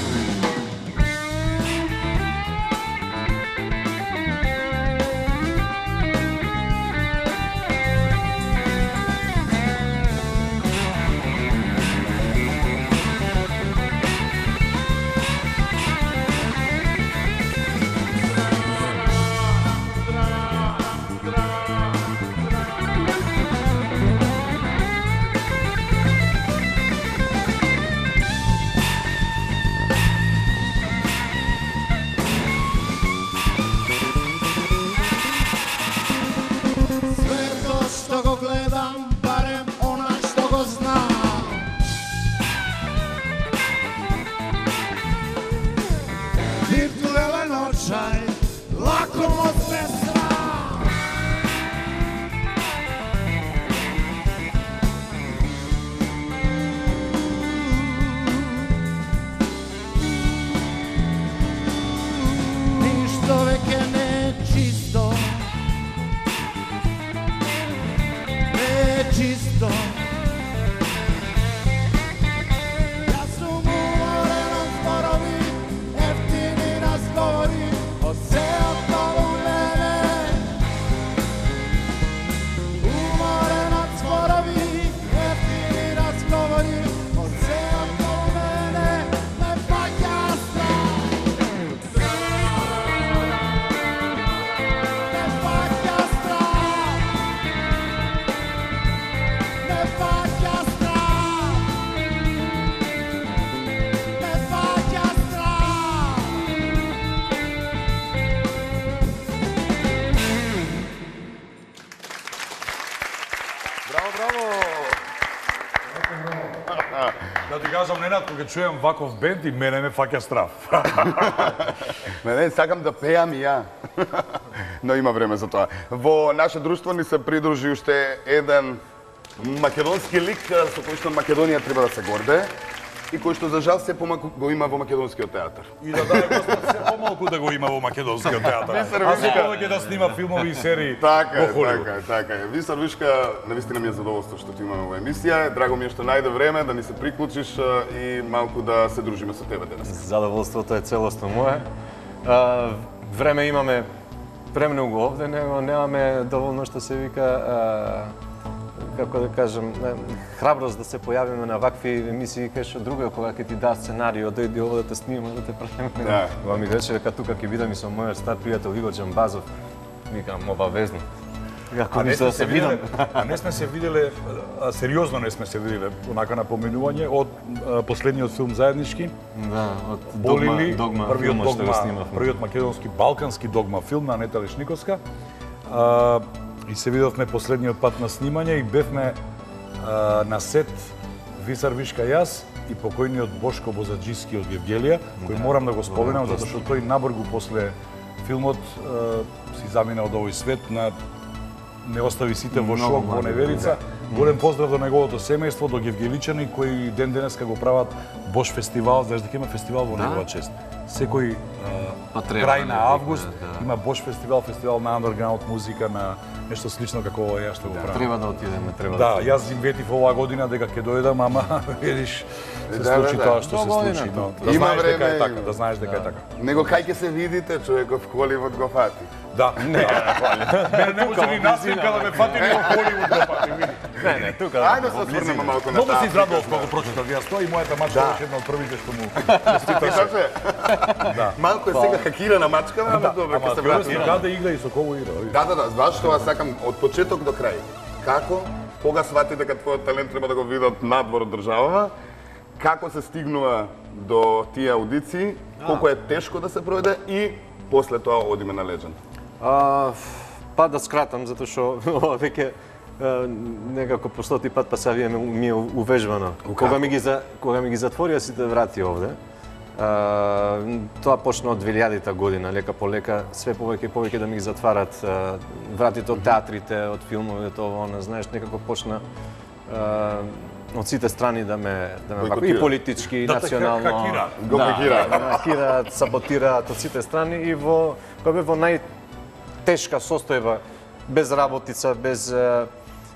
ништо. Јас сум уморен од зборови, ефтини разговори, од се околу мене. Уморен од зборови, ефтини разговори, од се околу мене. Ме фаќа страх. Ме фаќа страх. Ме фаќа страх. Ме фаќа страх. Браво, браво! Да ти кажам, Ненад, кога чуjem ваков бенд и мене ме фаќа страв. Не, сакам да пеам и ја. Но има време за тоа. Во наше друштво ни се придружи уште еден македонски лик со кој што Македонија треба да се горде и кој што за жал се помалку го има во македонскиот театар. И да даде Господ се помалку да го има во македонскиот театар. А се повеќе да снима филмови и серии Така во Холивуд. така е. Висар Вишка, навистина ми е задоволство што ти имаме во емисија. Драго ми е што најде време да ни се приклучиш и малку да се дружиме со тебе денес. Задоволството е целосно мое. Време имаме премногу овде, него немаме доволно што се вика како да кажам, храброст да се појавиме на вакви емисии кај што друга кога ќе ти даа сценарио, дојди ово да те снимаме, да те правиме. Да. Кога ми рече дека тука ќе бидам и со мојот стар пријател Игор Џамбазов, викам обавезно. Како ништо да се видам. А не сме се виделе, сериозно не сме се виделе, онака напоменување од последниот филм заеднички. Да, од Болили, Догма првиот филмот што го Догма, снимавме. првиот македонски балкански Догма филм на Анета Лешниковска. И се видовме последниот пат на снимање и бевме на сет Висар Вишка јас и покојниот Бошко Бозаджиски од Гевгелија, кој морам да го споменам затоа што тој набргу после филмот си замина од овој свет, не остави сите во шок, во неверица. Голем поздрав до неговото семејство, до гевгеличани кои ден денеска го прават Бош фестивал, знаеш дека има фестивал во негова чест. Секој крај на август има Бош фестивал, фестивал на андерграунд музика, на нешто слично како ова ја што го правам. Треба да отидеме, треба Да, јас им ветив оваа година дека ќе дојдам, ама видиш се случи тоа што се случи. Да знаеш дека е така, да знаеш дека е така. Него кај ќе се видите, човеков Холивуд го фати. Да, не може ни наснимка да ме фати ни во Холивуд го фати, види. Не, тука. Ајде да се осврнеме малку на Многу таа. се израдував кога го прочитав јас тоа и мојата мачка беше една од првите што му честиташе. Малку е сега хакирана мачка, ама добро, ќе се Ама вратиме. каде игра и со кого игра. Да, баш тоа сакам од почеток до крај. Како, кога свати дека твојот талент треба да го видат надвор од државава, како се стигнува до тие аудиции, колку е тешко да се пројде и после тоа одиме на Legend. Па да скратам, затоа што ова веќе некако по стоти пат па сега ми е увежбано. Кога ми ги затворија сите врати овде, тоа почна од 2000-та година, лека по лека, све повеќе и повеќе да ми ги затварат вратите од театрите, од филмовите, ова, не знаеш, некако почна од сите страни да ме и политички, и национално Го хакираат. хакираат, саботираат од сите страни и кога бев во најтешка состојба, без работица, без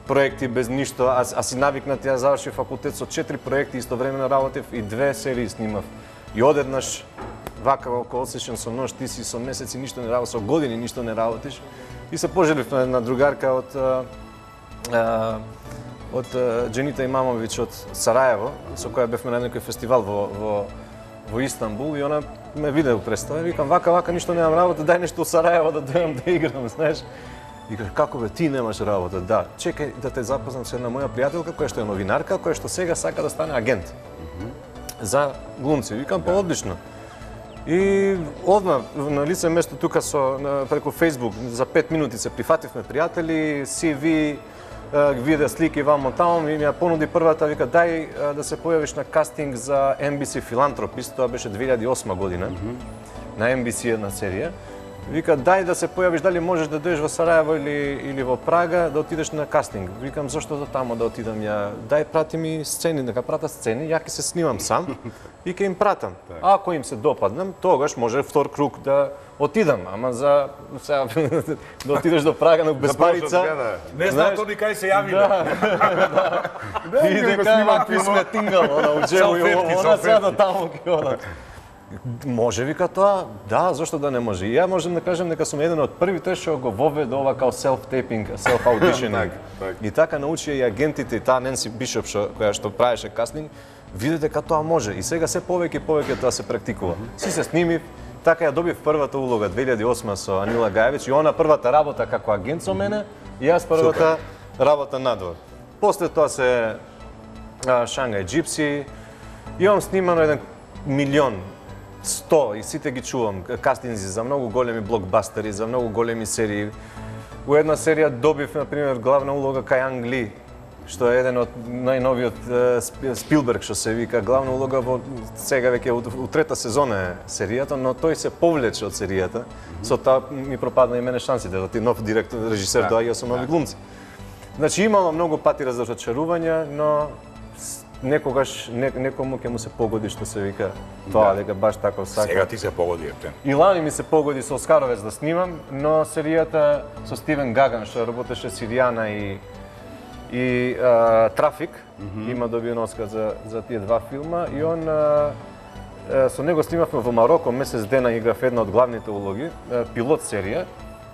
проекти, без ништо, а си навикнат, ја завршив факултет со 4 проекти, истовремено работев и 2 серии снимав. И одеднаш, вака околу одсечен со нож, ти си со месеци ништо не работиш, со години ништо не работиш. И се пожелив на една другарка од Дженита Имамовиќ од Сараево, со која бевме на некој фестивал во Истанбул и она ме виде у представа и викам вака ништо немам работа, дај нешто од Сараево да дојдам да играм, знаеш. И каже, како бе, ти немаш работа? Да, чекај да те запознам со една моја пријателка која што е новинарка, која што сега сака да стане агент за глумци. Викам, па одлично. И одма на лице место тука преку Facebook за 5 минути се прифативме пријатели, CV, видео слики вамо таму и ми ја понуди првата, вика дај да се појавиш на кастинг за NBC Philanthropist, тоа беше 2008 година. На NBC една серија. Вика, дај да се појавиш, дали можеш да дојдеш во Сараево или во Прага, да отидеш на кастинг. Викам, зошто до тамо да отидам ја? Дај, прати ми сцени, нека прата сцени, ја ќе се снимам сам и ќе им пратам. Ако им се допаднам, тогаш може втор круг да отидам, ама за сега да отидеш до Прага на безпарица. Не знам тони кај се јавиле. И дека ти сме тингал, у джебу и она сега до таму ќе одат. Може вика тоа, да, зошто да не може. И ја можем да кажем дека сум еден од првите што го воведе ова као self-taping, self-auditioning. И така научија и агентите и таа Ненси Бишоп која што правеше кастинг, виде дека тоа може. И сега се повеќе и повеќе тоа се практикува. Си се снимив, така ја добив првата улога 2008 со Анила Гаевич и она првата работа како агент со мене и јас првата работа надвор. После тоа се Шангај Джипси, имам снимано 1 милион 100 и сите ги чувам, кастинзи за многу големи блокбастери, за многу големи серии. У една серија добив, например, главна улога кај Анг Ли, што е еден од најновиот Спилберг, што се вика, главна улога во сега веќе у трета сезона е серијата, но тој се повлече од серијата. Со тоа ми пропадна и мене шансите, да ти нов директор, режисер доаѓа со нови глумци. Значи имало многу пати разочарувања, но некогаш некому ќе му се погоди што се вика тоа дека баш така сака. Сега ти се погоди Ептен. И лани ми се погоди со Оскаровец да снимам, но серијата со Стивен Гаган што работеше Сиријана и Трафик, има добиен Оскар за тие два филма и он со него снимавме во Мароко, месец дена играв една од главните улоги, пилот серија.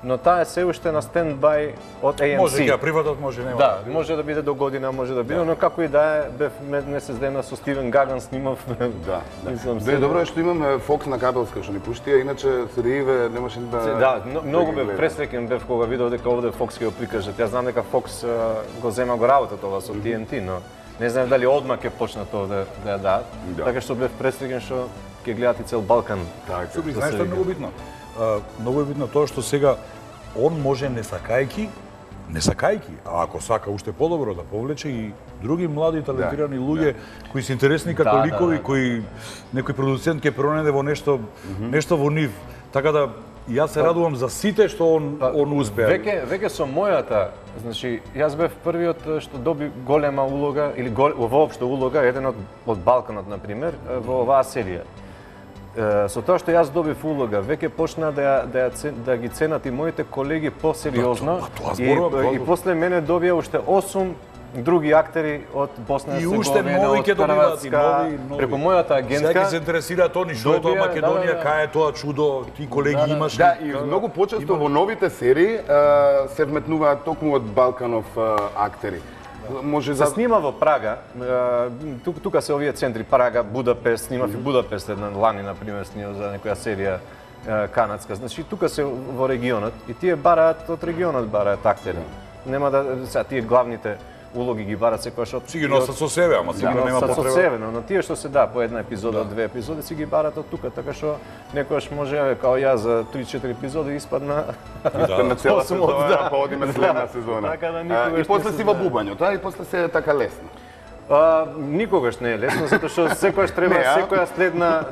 Но таа е се уште на стендбај од AMC. Може ќе приватот, може нема. Да, може да биде до година, може да биде, но како и да е, бев месец дена со Стивен Гаган снимав. Да. Добро е што имаме Фокс на кабелска што ни пушти, а иначе серииве немаше да. Да, многу бев пресреќен бев кога видов дека овде Фокс ќе го прикажат. Јас знам дека Фокс го зема го работата ова со TNT, но не знам дали одма ќе почнат тоа да ја дадат. Така што бев пресреќен што ќе гледат и цел Балкан. Така, знаеш што е многу битно? Многу е видно тоа што сега он може не сакајки, а ако сака уште подобро да повлече и други млади талентирани луѓе кои се интересни како ликови, кои некој продуцент ќе пронајде во нешто во нив. Така да јас се радувам за сите што он успеа. Веќе со мојата, значи јас бев првиот што доби голема улога или воопшто улога, еден од Балканот на пример, во оваа серија. Со тоа што јас добив улога, веќе почна да ги ценат и моите колеги посериозно и после мене добија уште 8 други актери од Босна и Херцеговина, од Хрватска, преку мојата агентка. Сега ги се интересираат они што е тоа Македонија, кај е тоа чудо, ти колеги имаш. Да, и многу почесто во новите серии се вметнуваат токму од Балканов актери. Се снима во Прага, тука се овие центри Прага, Будапест, снимав и Будапест една лани, например, снимав за некоја серија канадска. Значи, тука се во регионот и тие бараат од регионот бараат актери. Нема да, сега тие главните улоги ги барат секојаш од... Си ги носат со себе, ама сигурно нема потреба. Со себе, но тие што се по една епизода, две епизоди, си ги барат од тука, така што некојаш може, као ја за 3-4 епизоди испадна... На цела сезона, па одиме следна сезона. И после си во бубањето, и после се е така лесно. Никогаш не е лесно, затоа што секојаш треба секоја следна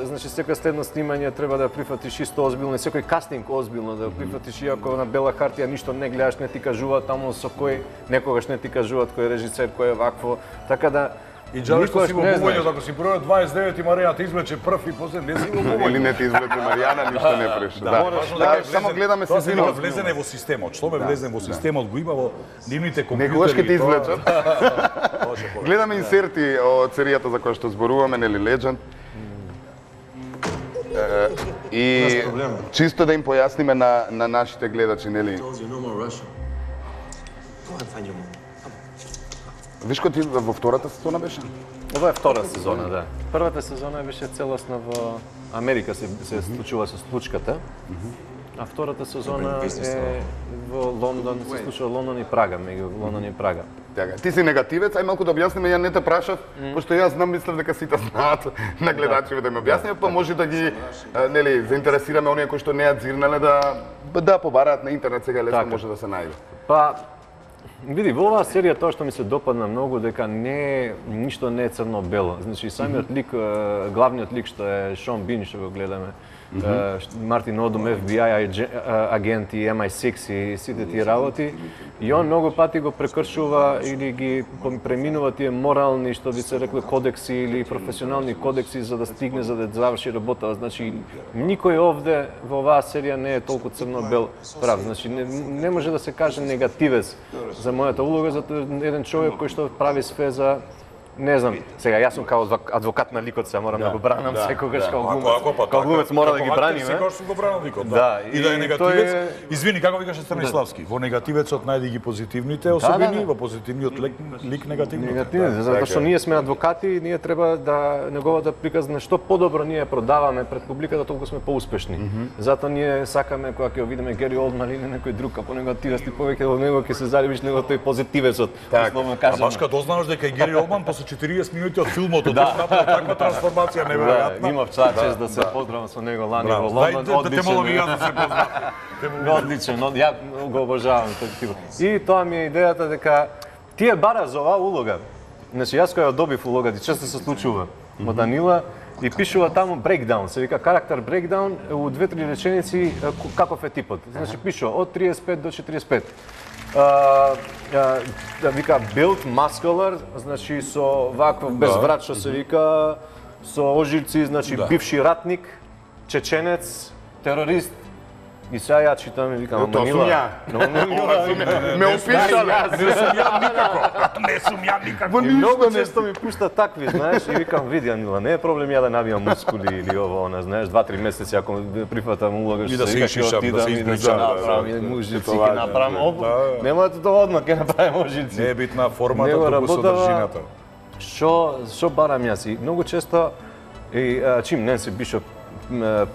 значи секоја следно снимање треба да прифатиш исто озбилно, секој кастинг озбилно да прифатиш, иако на бела хартија ништо не гледаш, не ти кажуваат таму со кој, некогаш не ти кажуваат кој е режисер, кој е вакво, така да И джале што си во бубањето, ако си прво 29 и Маријана те извлече прв и после не си во бубањето. Или не те извлече Маријана, ништо не преше. Да, само гледаме се зино. Влезене во системот. Што ме влезен во системот го има во нивните компјутери. Некогаш ќе те извлечат. Гледаме инсерти од серијата за која што зборуваме, нели Legend. И чисто да им појасниме на нашите гледачи, нели. Виш кој ти во втората сезона беше? Ова е втора сезона, да. Првата сезона беше целосно во Америка се случува со случката. А втората сезона е во Лондон, се случува Лондон и Прага, меѓу Лондон и Прага. Така, ти си негативец, ај малку да објасниме, ја не те прашав, пошто јас знам, мислев дека сите знаат на гледачите да ми објасниме, па може да ги нели заинтересираме оние кои што не ја дзирнале да побараат на интернет, сега лесно може да се најде. Па види, во оваа серија тоа што ми се допадна многу дека ништо не е црно-бело. Значи самиот лик, главниот лик што е Шон Бин што го гледаме, Мартин Одум, FBI агент и MI6 и сите тие работи. И он многу пати го прекршува или ги преминува тие морални, што би се рекле, кодекси или професионални кодекси за да стигне, за да заврши работа. Значи, никој овде во оваа серија не е толку црно-бел прав. Значи, не може да се каже негативец за мојата улога, затоа еден човек кој што прави све за не знам, сега јас сум као адвокат на ликот, се морам да го бранам секогаш као глумец мора да ги браниме. Секогаш сум го бранал ликот, да. И да е негативец. Извини, како викаше Станиславски, во негативецот најди ги позитивните особини, во позитивниот лик негативните. Негативните, затоа што ние сме адвокати и ние треба да неговата приказна што подобро ние продаваме пред публиката, толку сме поуспешни. Затоа ние сакаме кога ќе видиме Гери Олдман или некој друг како негативец, ти повеќе во него ќе се заливиш него тој позитивецот. Условно кажано. Баш кога дознаваш дека Гери Олдман 40 минути од филмот, направи таква трансформација неверојатна. Имав чест да се поздравам со него лани во Лондон. Одличен. Да се поздравам. Одличен, ја го обожавам тој тип. И тоа ми е идејата дека тие бара за оваа улога. Значи јас кога ја добив улогата, често се случува во Данила и пишува таму breakdown, се вика карактер breakdown у 2-3 реченици каков е типот. Значи пишува од 35 до 45. Вика build muscular, значи со ваков безврат што се вика, со ожилци, значи бивши ратник, чеченец, терорист. И сега ја читам и викам, тоа сум ја. Ме опишале. Не сум ја никако. Не сум ја никако. Многу често ми пушта такви, знаеш, и викам, види Анила, не е проблем ја да набијам мускули или ово, она, знаеш, 2-3 месеци ако прифатам улога што се вика ќе отидам и да направам мужици, ќе направам нема тоа одма, ќе направим мужици. Не е битна формата, туку содржината. Што барам јас и многу често и чим Ненси Бишоп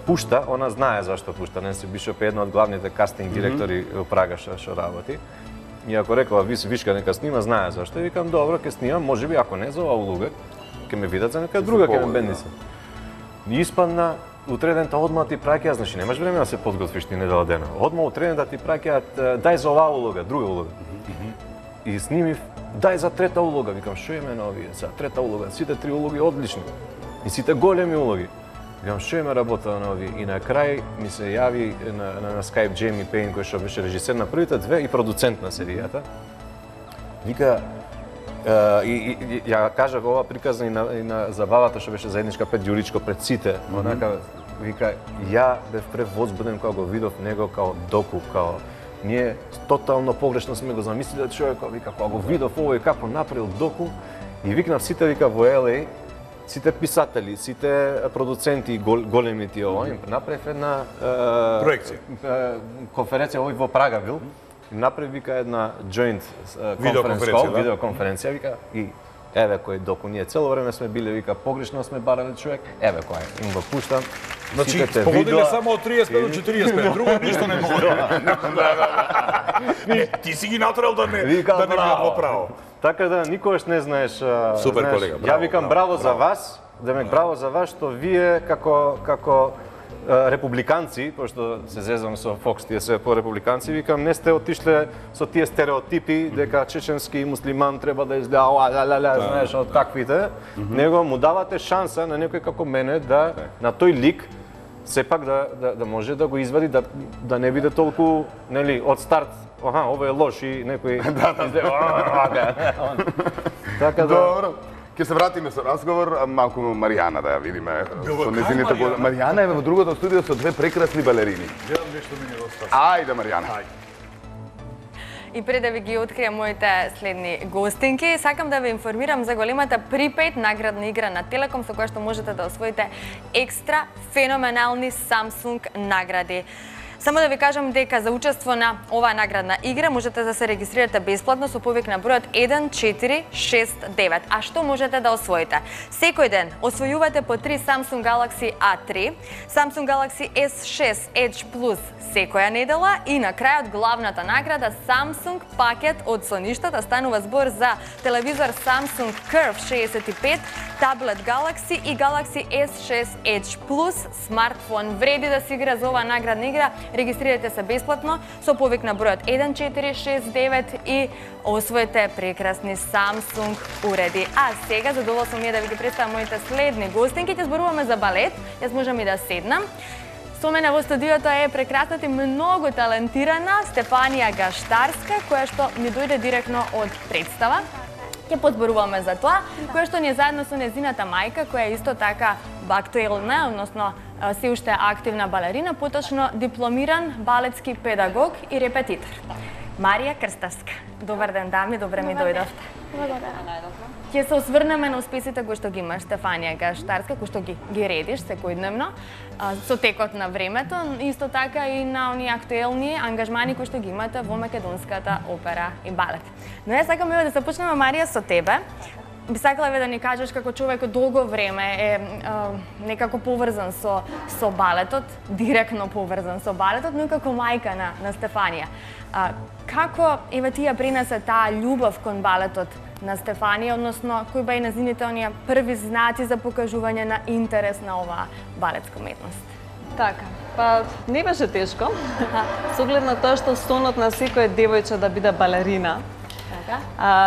пушта, она знае зашто пушта. Ненси Бишоп е една од главните кастинг директори во Прага што работи. И ако рекла вишка нека снима, знае зашто. И викам добро, ќе снимам, можеби ако не за оваа улога, ќе ме видат за нека друга, ќе ме бендиса. И испадна утредента одма ти праќаат, значи немаш време да се подготвиш ти недела дена. Одма утредента ти праќаат дај за оваа улога, друга улога. И снимив дај за трета улога, викам што име на овие, за трета улога, сите три улоги одлични. И сите големи улоги. Викам, што име работа на ови? И на крај ми се јави на Skype Джейми Пейн, кој што беше режисер на првите две и продуцент на серијата. Вика, и ја кажа ова приказна и на забавата што беше заедничка пред Ѓуричко, пред сите. Онака, вика, ја бев превозбуден кога го видов него као доку, као ние тотално погрешно сме го замислиле човекот, вика, кога го видов овој како направил доку, и викнав сите, вика, во LA, сите писатели, сите продуценти, големи тие ова, им направив една проекција. Конференција овој во Прага бил. Направи вика една joint видеоконференција, вика, и еве кој доку ние цело време сме биле, вика, погрешно сме барале човек, еве кој им го пуштам. Значи, погодиле само од 35 до 45, друго ништо не може. Ти си ги натрал да не бидат во право. Така да никогаш не знаеш. Супер колега, браво. Ја викам браво за вас, браво за вас што вие како републиканци, пошто се зезам со Фокс, тие се по републиканци, викам не сте отишле со тие стереотипи дека чеченски муслиман треба да изгледа знаеш од таквите, него му давате шанса на некој како мене да на тој лик сепак да може да го извади, да не биде толку, нели, од старт, ово е лош и некој така да. Добро. Ќе се вратиме со разговор, малку Маријана да ја видиме со незините години. Маријана е во другото студио со две прекрасни балерини. Гледам нешто ми недостава. Ајде, Маријана. И пред да ви ги откријам моите следни гостинки, сакам да ве информирам за големата Prepaid наградна игра на Телеком со која што можете да освоите екстра феноменални Samsung награди. Само да ви кажам дека за учество на оваа наградна игра можете да се регистрирате бесплатно со повик на бројот 1469. А што можете да освоите? Секој ден освојувате по 3 Samsung Galaxy A3, Samsung Galaxy S6 Edge Plus секоја недела и на крајот главната награда Samsung пакет од соништата. Станува збор за телевизор Samsung Curve 65, таблет Galaxy и Galaxy S6 Edge Plus смартфон. Вреди да се игра за оваа наградна игра. Регистрирате се бесплатно со повик на бројот 1469 и освоите прекрасни Samsung уреди. А сега задоволство ми е да ви ги представам моите следни гостинки. Ќе зборуваме за балет. Јас можам и да седнам. Со мене во студиото е прекрасната и многу талентирана Стефанија Гаштарска, која што ни дојде директно од представа. Ќе позборуваме за тоа, која што ни е заедно со незината мајка, која е исто така актуелна, односно се уште активна балерина, поточно дипломиран балетски педагог и репетитор. Марија Крстевска. Добар ден, дами, добре ми дојдовте. Благодарам. Ќе се осврнеме на успесите кои што ги имаш Стефанија Гаштарска, кои што ги редиш секојдневно, со текот на времето, исто така и на оние актуелни ангажмани кои што ги имате во Македонската опера и балет. Но јас сакам да се почнеме, Марија, со тебе. Би сакала да ни кажеш како човек од долго време е некако поврзан со балетот, директно поврзан со балетот, но и како мајка на Стефанија. Како еве ти ја принесе таа љубов кон балетот на Стефанија, односно кои беа незините оние први знаци за покажување на интерес на оваа балетска уметност? Така, па не беше тешко. Со оглед на тоа што сонот на секој девојче да биде балерина.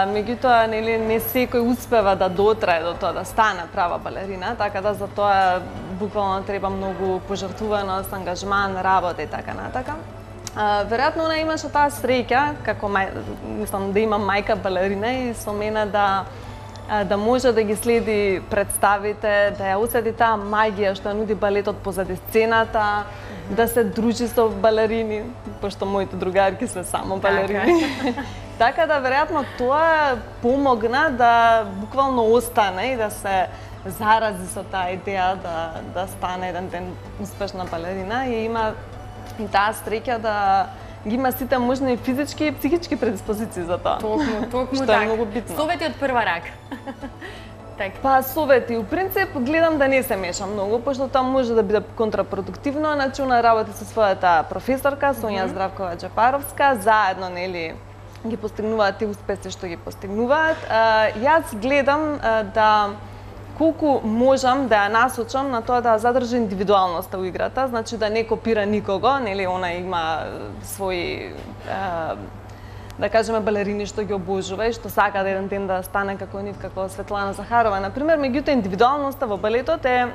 Меѓутоа, не секој успева да дотрае до тоа да стане права балерина, така да за тоа буквално треба многу пожртвуваност, ангажман, работа и така натака. Веројатно она имаше таа среќа, како мислам да има мајка балерина и со мене да може да ги следи представите, да ја усети таа магија што нуди балетот позади сцената, да се дружи со балерини, пошто моите другарки се само балерини. Така да веројатно тоа помогна да буквално остане и да се зарази со таа идеја да стане еден ден успешна балерина и има и таа среќа да ги има сите можни физички и психички предиспозиции за тоа. Токму што е многу битно. Совети од прва рака. Па совети, у принцип гледам да не се мешам многу, пошто тоа може да биде контрапродуктивно, значи она работи со својата професорка Сонја Здравкова Джапаровска, заедно нели ги постигнуваат тие успеси што ги постигнуваат. Јас гледам да колку можам да ја насочам на тоа да задржи индивидуалноста у играта, значи да не копира никого, нели она има своји да кажеме балерини што ги обожува и што сака да еден ден да стане како нив, како Светлана Захарова, например, меѓутоа индивидуалноста во балетот е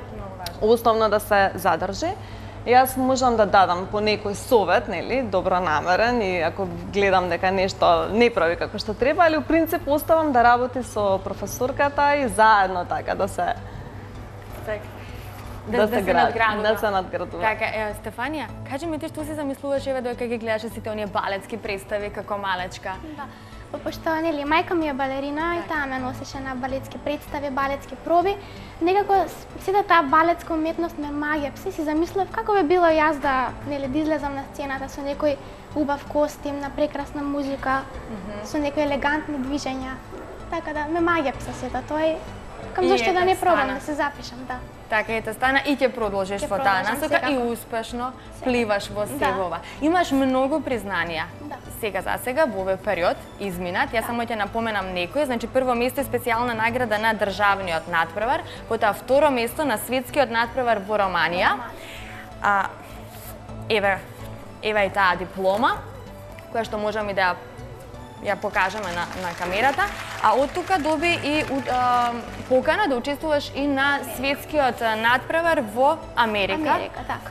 основно да се задржи. Јас можам да дадам по некој совет, нели, добронамерен и ако гледам дека нешто не прави како што треба, али у принцип оставам да работи со професорката и заедно така да се надградува. Така, Стефанија, кажи ми ти што си замислуваш еве додека ги гледаше сите оние балетски представи како малечка? Да. Пошто нели мајка ми е балерина и таа ме носеше на балетски представи, балетски проби. Некако сета таа балетска уметност ме магија. Си замислев како би било јас да излезам на сцената со некој убав костим, на прекрасна музика, со некои елегантни движења. Така да ме магија сета тоа и кам зашто да не пробам да се запишам, да. Така ете стана и ќе продолжиш во таа насока и успешно пливаш во севова. Имаш многу признанија. Сега за сега во овој период изминат, јас само ќе напоменам некои, значи прво место е специјална награда на државниот надпревар, потоа второ место на светскиот надпревар во Романија. Еве и таа диплома, која што можам и да ја покажеме на камерата, а од тука доби и покана да учествуваш и на светскиот надпревар во Америка. Така.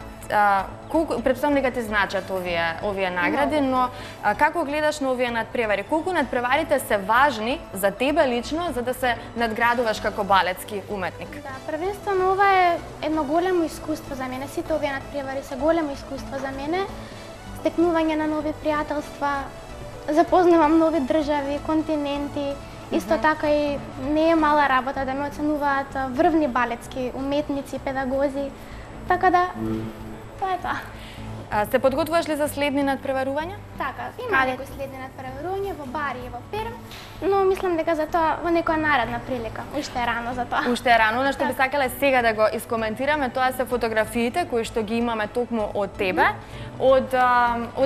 Претпоставам дека ти значат овие награди, но како гледаш на овие надпревари? Колку надпреварите се важни за тебе лично за да се надградуваш како балетски уметник? Да, првенствено ова е едно големо искуство за мене. Сите овие надпревари се големо искуство за мене. Стекнување на нови пријателства, запознавам нови држави, континенти. Исто така и не е мала работа да ме оценуваат врвни балетски уметници, педагози. Така да, тоа е тоа. Се подготвуваш ли за следни надпреварувања? Така, има некои следни надпреварувања во Бари и во Перм, но мислам дека за тоа во некоја наредна прилика. Уште е рано за тоа. Уште е рано, но што би сакале сега да го искоментираме, тоа се фотографиите кои што ги имаме токму од тебе, од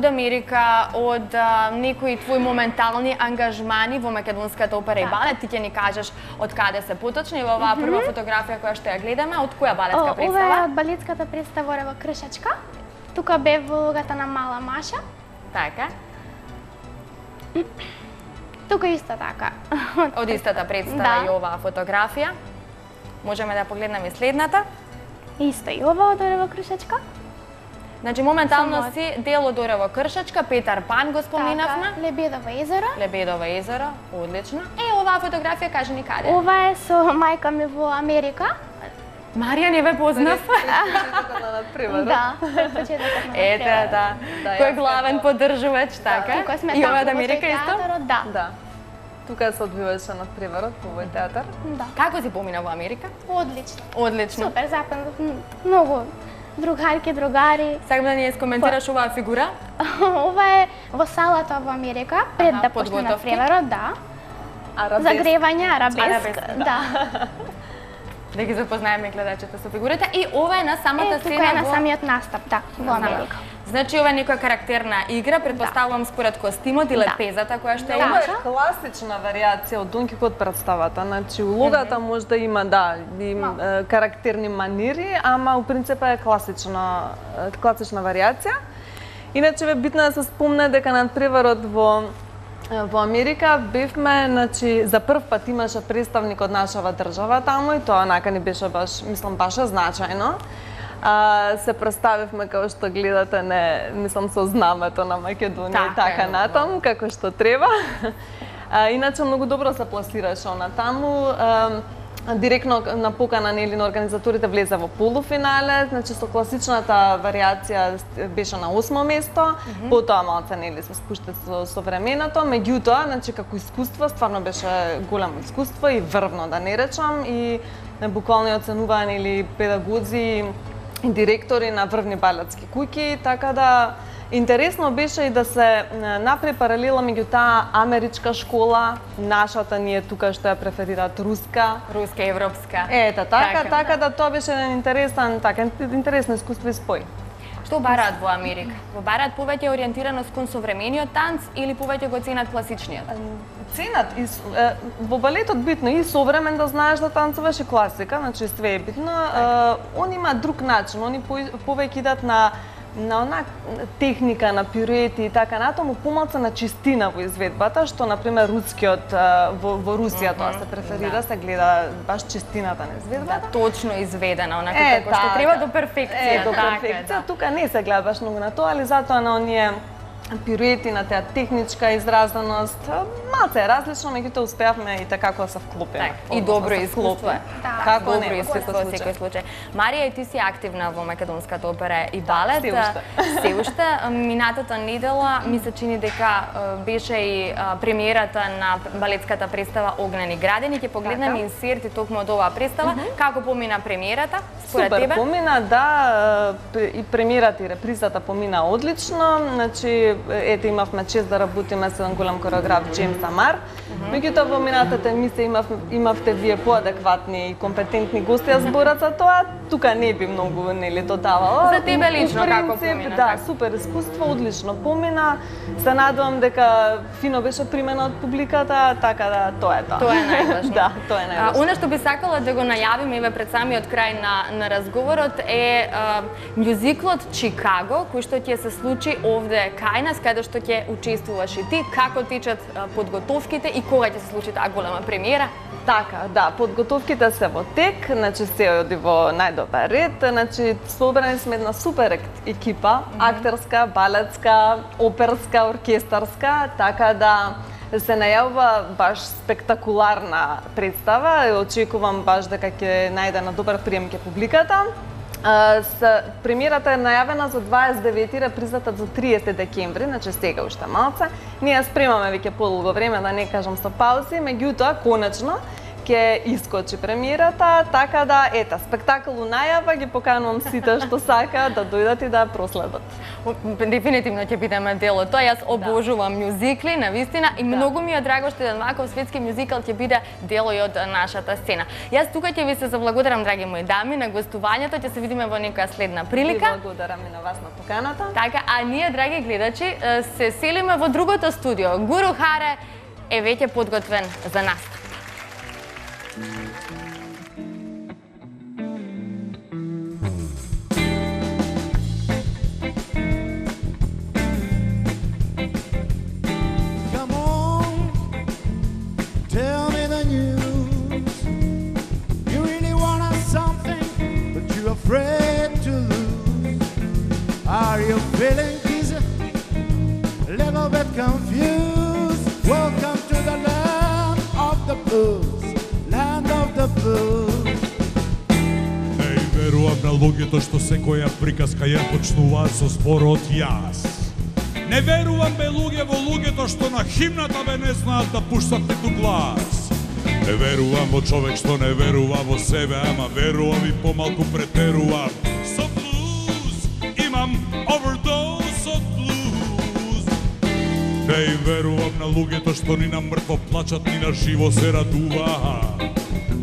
Америка, од некои твои моментални ангажмани во Македонската опера и балет. Ти ќе ни кажеш од каде се поточно и во оваа прва фотографија која што ја гледаме, од која балетска представа? Ова е од балетската представа во Кршачка. Тука бев во улогата на Мала Маша. Така. Тука исто така. Од истата представа и оваа фотографија. Можеме да погледнеме следната. Исто и ова од во Кршачка. Значи моментално си дел од Орево Кршачка, Петар Пан го споминавме. Така, Лебедово езеро. Лебедово езеро, одлично. Оваа фотографија кажи ни каде? Ова е со мајка ми во Америка. Марија не ве познав? Почетокот на надпреварот. Да, почетокот на Ете, да. Кој е главен поддржувач, така? Тука сме И ова од таму во Америка исто? театарот, да. Да. Тука се одвиваше надпреварот по овој театар. Да. Како си помина во Америка? Одлично. Одлично. Супер, запазнав многу другарки, другари. Сакам да ни скоментираш оваа фигура? Ова е во салата во Америка, пред да почне надпреварот, да. Загревање, арабеск, да. Да ги запознаеме гледачите со фигурата. И ова е на самата сцена тука е на самиот настап, да, во Америка. Значи ова е некоја карактерна игра, предпоставувам според костимот и лепезата која што Има имаш. класична вариација од Дон Кихот представата. Значи улогата може да има карактерни манири, ама у принцип е класична вариација. Иначе е битно да се спомне дека надпреварот во Америка бевме, значи, за прв пат имаше представник од нашава држава таму и тоа онака ни беше баш, мислам, баш значајно. Се представивме како што гледате, мислам, со знамето на Македонија и така натаму, како што треба. Иначе многу добро се пласираше она таму. Директно на покана на организаторите влезе во полуфинале, значи со класичната вариација беше на 8-мо место, потоа малце се спушта со временото, меѓутоа, значи како искуство стварно беше големо искуство и врвно да не речам и буквално оценувани педагози и директори на врвни балетски куќи, така да интересно беше и да се направи паралела меѓу таа америчка школа, нашата ние тука што ја преферираат руска, европска. Ета, така да тоа беше интересно искуство и спој. Што бараат во Америка? Во бараат повеќе ориентираност кон современиот танц или повеќе го ценат класичниот? Ценат во балетот битно и современ да знаеш да танцуваш и класика, значи све е битно. Они имаат друг начин, они повеќе идат на онак техника, на пируети и така натаму, помалку на чистина во изведбата, што например рускиот во Русија тоа се преферира, се гледа баш чистината на изведбата. Точно изведена, онака како што треба до перфекција. До перфекција, тука не се гледа баш многу на тоа, али затоа на оние пируети, на таа техничка изразеност, малце е различно, меѓутоа успеавме и така да се вклопиме. И добро искуство е. Како добро искуство во секој случај. Марија, и ти си активна во Македонската опера и балет. Се уште. Минатата недела ми се чини дека беше и премиерата на балетската представа Огнени градини. Ќе погледнеме инсерти токму од оваа представа. Како помина премиерата според тебе? Супер помина, да, и премиерата и репризата помина одлично. Значи, ете имавме чест да работиме со еден голем кореограф Джеймс Амар. Меѓутоа во минатата емисија имавте вие поадекватни и компетентни гости ја зборат за тоа. Тука не би многу додавала. За тебе лично како помина? Да, супер искуство, одлично помина. Се надевам дека фино беше примена од публиката, така да тоа е тоа. Тоа е најважно. Да, тоа е најважно. Она што би сакала да го најавиме еве пред самиот крај на разговорот е мюзиклот Чикаго, кој што ќе се случи овде кај нас, каде што ќе учествуваш и ти. Како течат подготовките и кога ќе се случи таа голема премиера? Така, да, подготовките се во тек, значи се оди во најдобар ред, значи собрани сме една супер екипа, актерска, балетска, оперска, оркестарска, така да се најавува баш спектакуларна представа и очекувам баш дека ќе најде на добар прием ке публиката. Премиерата е најавена за 29, репризата за 30 декември, значи сега уште малце. Ние спремаме веќе подолго време, да не кажам со паузи, меѓутоа конечно ќе искочи премиерата, така да ета спектакл у најава, ги поканувам сите што сака да дојдат и да проследат. Дефинитивно ќе бидеме дел од тоа. Јас обожувам мюзикли, навистина, и многу ми е драго што еден ваков светски мюзикл ќе биде дел и од нашата сцена. Јас тука ќе ви се заблагодарам, драги мои дами, на гостувањето. Ќе се видиме во некоја следна прилика. Ви благодарам и на вас на поканата. Така, а ние, драги гледачи, се селиме во другото студио. Гуру Харе е веќе подготвен за настап. Afraid to lose. Are you feeling dizzy? Little bit confused? Welcome to the land of the blues, land of the blues. Не верувам на луѓето што секоја приказка ја почнуваат со зборот јас. Не верувам бе луѓе во луѓето што на химната бе не знаат да пуштат ниту глас. Не верувам во човек што не верува во себе, ама верувам и помалку претерувам. Со блуз имам овердоз од блуз. Не им верувам на луѓето што ни на мртво плачат, ни на живо се радуваат.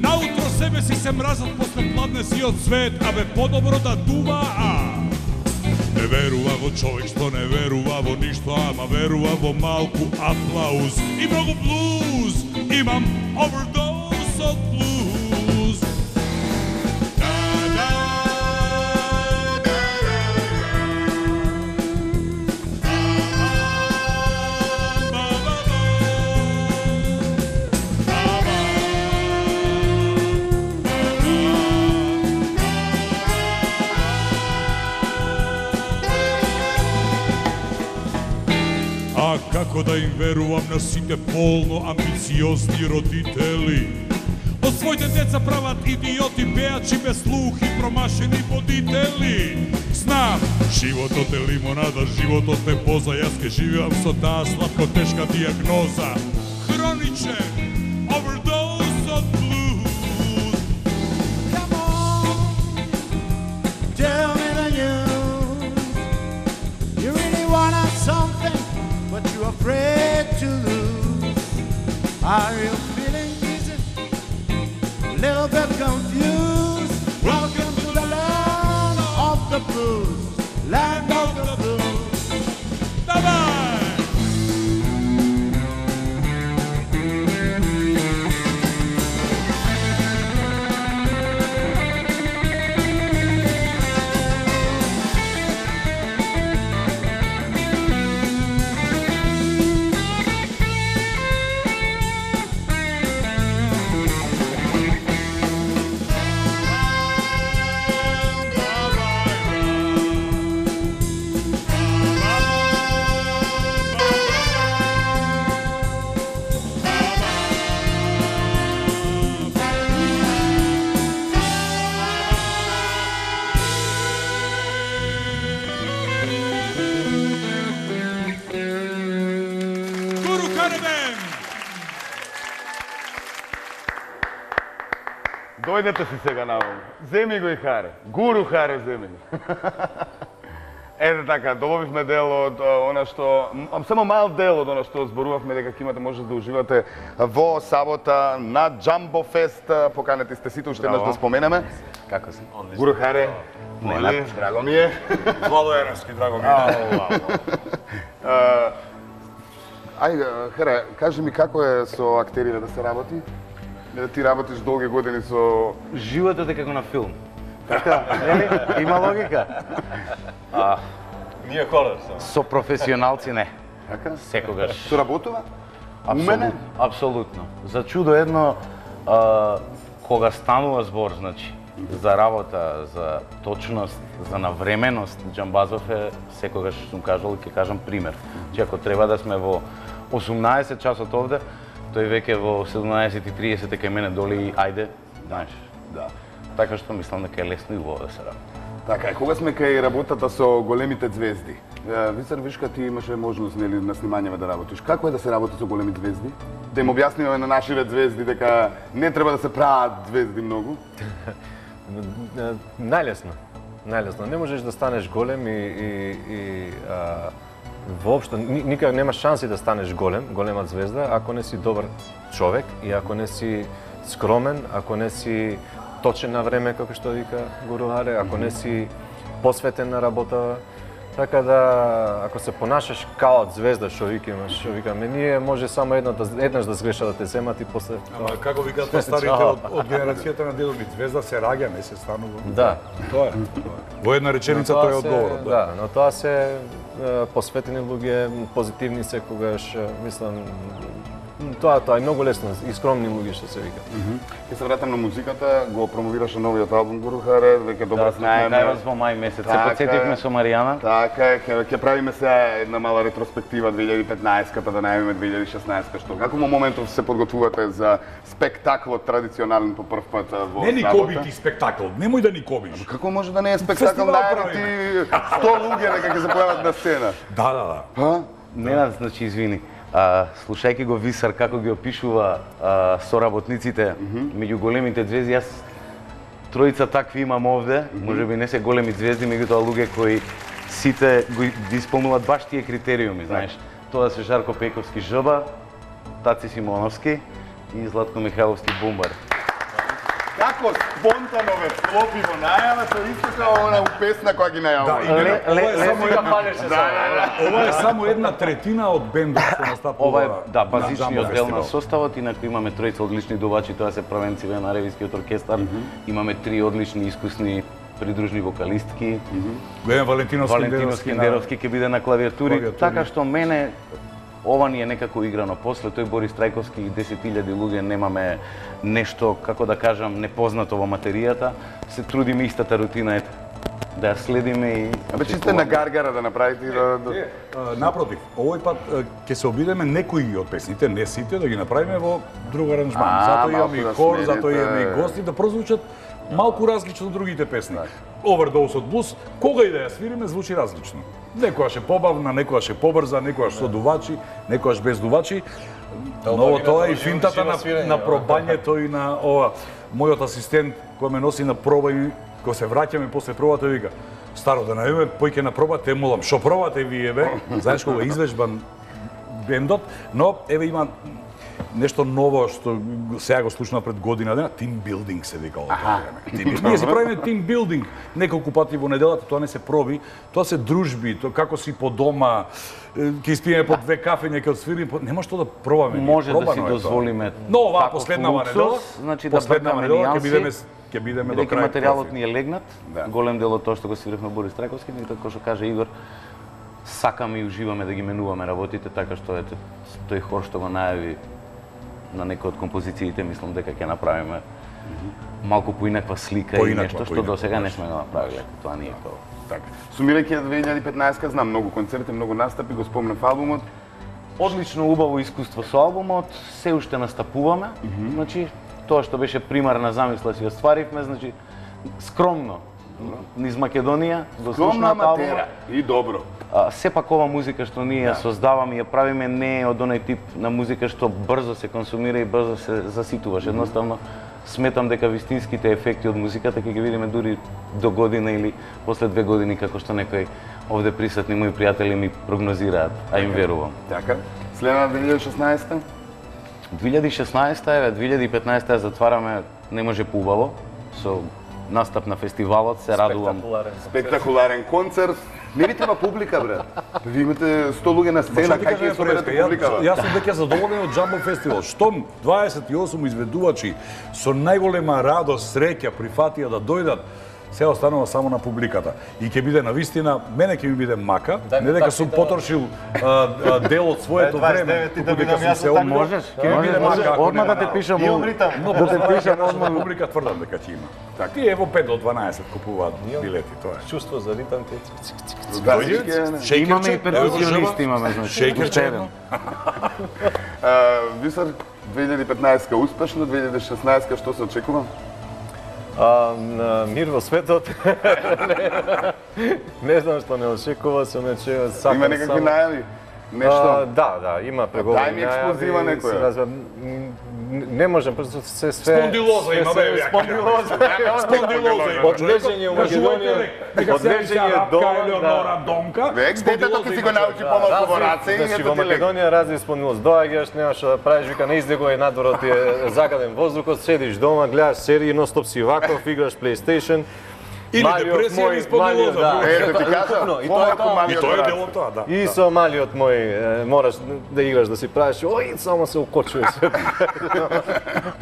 Наутро себе си се мразат после пладнесиот свет, а бе подобро да дуваат. Не верува во човек што не верува во ништо, ама верува во малку аплауз и многу блуз. Имам овердоз од блуз. А како да им верувам на сите полно амбициозни родители? Од своите деца прават идиоти, пеачи без слух и промашени водители. Знам, животот е лимонада, животот е поза, јас ке живеам со таа слабко тешка диагноза. Хроничен овердоз од блуз. Come on, tell me the news. You really wanna something, but you're afraid to lose. Are you feeling dizzy? Little bit confused? Welcome to the land of the blues, land of the blues. Давај! Дојдете си сега наваму. Земи го и Харе. Гуру Харе земи го. Ете така, добавивме дел од она што, само мал дел од она што зборувавме дека ќе имате можност да уживате во сабота на Джамбо Фест. Поканети сте сите, уште еднаш да споменеме. Како си? Гуру Харе, моли, драго ми е. Владо Ерански, драго ми е. Ајде, Харе, кажи ми како е со актерите да се работи? Да ти работиш долги години со... Животот е како на филм. Така, нели? Има логика. Ние колер со професионалци не. Така? Секогаш. Со работува? Умене? Абсолютно. За чудо едно, кога станува збор, значи, за работа, за точност, за навременост, Џамбазов е, секогаш сум кажал и ќе кажам пример. Че ако треба да сме во 18 часот овде, тој веќе во 17:30 кај мене доли и ајде, знаеш. Да. Така што мислам дека е лесно и убаво да се работи. Така, кога сме кај работата со големите звезди, Висар Вишка, ти имаше можност нели на снимањева да работиш. Како е да се работи со големи звезди? Да им објасниме на нашите звезди дека не треба да се прават звезди многу? Најлесно. Најлесно. Не можеш да станеш голем и воопшто никак нема шанси да станеш голема звезда ако не си добар човек и ако не си скромен, ако не си точен на време, како што вика Гуру Харе, ако не си посветен на работа. Така да, ако се понашаш као звезда, што викаме, ние може само еднаш да сгреша да те земат и после... Ама како викаат старите од генерацијата на дедо ми, звезда се раѓа, не се станува. Да. Тоа е. Во една реченица тоа е одговорот. Да, но тоа се посветени луѓе, позитивни секогаш, мислам, Тоа е многу лесно, и скромни луѓе што се вика. Ќе се вратам на музиката, го промовираше новиот албум Гурухаре, веќе добро знаеме. Да, во мај месец, се подсетивме со Маријана. Така е, ќе правиме сега една мала ретроспектива 2015-ката, да најавиме 2016-ка, што како во моментов се подготвувате за спектаклот традиционален по прв пат во Не ни коби ти спектакл, немој да ни кобиш. Како може да не е спектакл, најави ти 100 луѓе дека ќе се појават на сцена? Да. Ненад, значи, извини. Слушајќи го Висар како ги опишува соработниците меѓу големите звезди, јас тројца такви имам овде, можеби не се големи звезди, меѓутоа луѓе кои сите ги исполнуваат баш тие критериуми, знаеш. Тоа се Жарко Пејковски Жба, Таци Симоновски и Златко Михайловски Бумбар. Како спонтано ве вклопи во најава, тоа исто како она песна која ги најавува. Ова е само една третина од бендот што настапува. Ова е базичниот дел на составот, инаку имаме тројца одлични дувачи, тоа се првенците на Ревискиот оркестар. Имаме 3 одлични искусни придружни вокалистки. Валентино Скендеровски ќе биде на клавиатури, така што мене ова ни е некако играно. После тој Борис Трајковски и 10.000 луѓе немаме нешто, како да кажам, непознато во материјата. Се трудиме истата рутина, ете, да ја следиме и... Абе, чисто на гаргара да направите и да... Напротив, овој пат ќе се обидеме некои од песните, не сите, да ги направиме во друг аранжман. Затоа имаме и хор, затоа имаме и гости, да прозвучат малку различно од другите песни. Overdose од блуз, кога и да ја свириме, звучи различно. Некојаш е побавна, некојаш е побрза, некојаш со дувачи, некојаш без дувачи. Но тоа е и финтата на пробањето и на ова. Мојот асистент кој ме носи на проба и кога се враќаме после пробата вика: "Старо, да најдеме појќе на проба, те молам, шо пробате вие бе?" Знаеш кога извежбан бендот, но еве има нешто ново што сега го слушнав пред година дена, team building се вика ова време. Ние си правиме team building неколку пати во неделата, тоа не се проби, тоа се дружби, тоа како си по дома, ќе испиеме по 2 кафења, ќе отсвириме, нема што да пробаме. Може да си дозволиме. Но оваа последнава недела, значи да последнава недела ќе бидеме до крај. Материјалот ни е легнат, голем дел од тоа што го свиревме Борис Трајковски, и како што каже Игор, сакаме и уживаме да ги менуваме работите, така што ете тој хор што го најави на некои од композициите, мислам дека ќе направиме малку поинаква слика и нешто што до сега не сме го направиле. Тоа не е тоа. Така. Сумирајќи 2015-ка, знам многу концерти, многу настапи, го спомнав албумот. Одлично убаво искуство со албумот, се уште настапуваме. Значи, тоа што беше примарна замисла си остваривме, значи скромно низ Македонија, го слушнав албумот и добро. Сепак ова музика што ние ја создаваме и ја правиме не е од оној тип на музика што брзо се консумира и брзо се заситуваш. Едноставно сметам дека вистинските ефекти од музиката ќе ги видиме дури до година или после 2 години, како што некои овде присутни мои пријатели ми прогнозираат, а им верувам. Така. Следна 2016-та? 2016-та, еве, 2015-та затвараме Не може поубаво со настап на фестивалот, се радувам. Спектакуларен концерт. Не ви треба публика, бре. Ви имате 100 луѓе на сцена, как ќе соберете публика? Јас сум веќе задоволен од Jumbo Festival. Штом 28 изведувачи со најголема радост, среќа прифатија да дојдат, се останува само на публиката. И ќе биде навистина, мене ќе ми биде мака, не дека сум потрошил дел од своето време, туку дека сум се можеш, ќе ми биде мака. Одма да те пишам, да те пишам одма на публика, тврдам дека ќе има. Така, тие во 5 до 12 купуваат билети, тоа е. Чувство за ритам ти. Имаме и перкусионисти, имаме, значи. Шејкерче. Висар, 2015-ка успешно, 2016-ка што се очекува? Мир во светот. Не знам што не очекува, се не очекува. Има некакви најави? Нешто? Да, има преговори. Дај ми ексклузива некоја. Не можем, просто се све... Спондилоза има, бе, Спондилоза. Спондилоза има. Одлежење у Македонија. Одлежење дома. Век, детето ти си го научи помалку во раце и значи, во Македонија разни спондилоз. Доаѓаш, немаш што да правиш, вика, не издегувај надвор, ти е загаден воздухот, седиш дома, гледаш серии, ностоп си ваков, играш PlayStation. Или депресија или спондилоза. Ето ти кажа, помалку малиот И тоа е брат. дел од тоа, да. И со малиот мој мораш да играш, да си правиш, ој, само се укочуваш.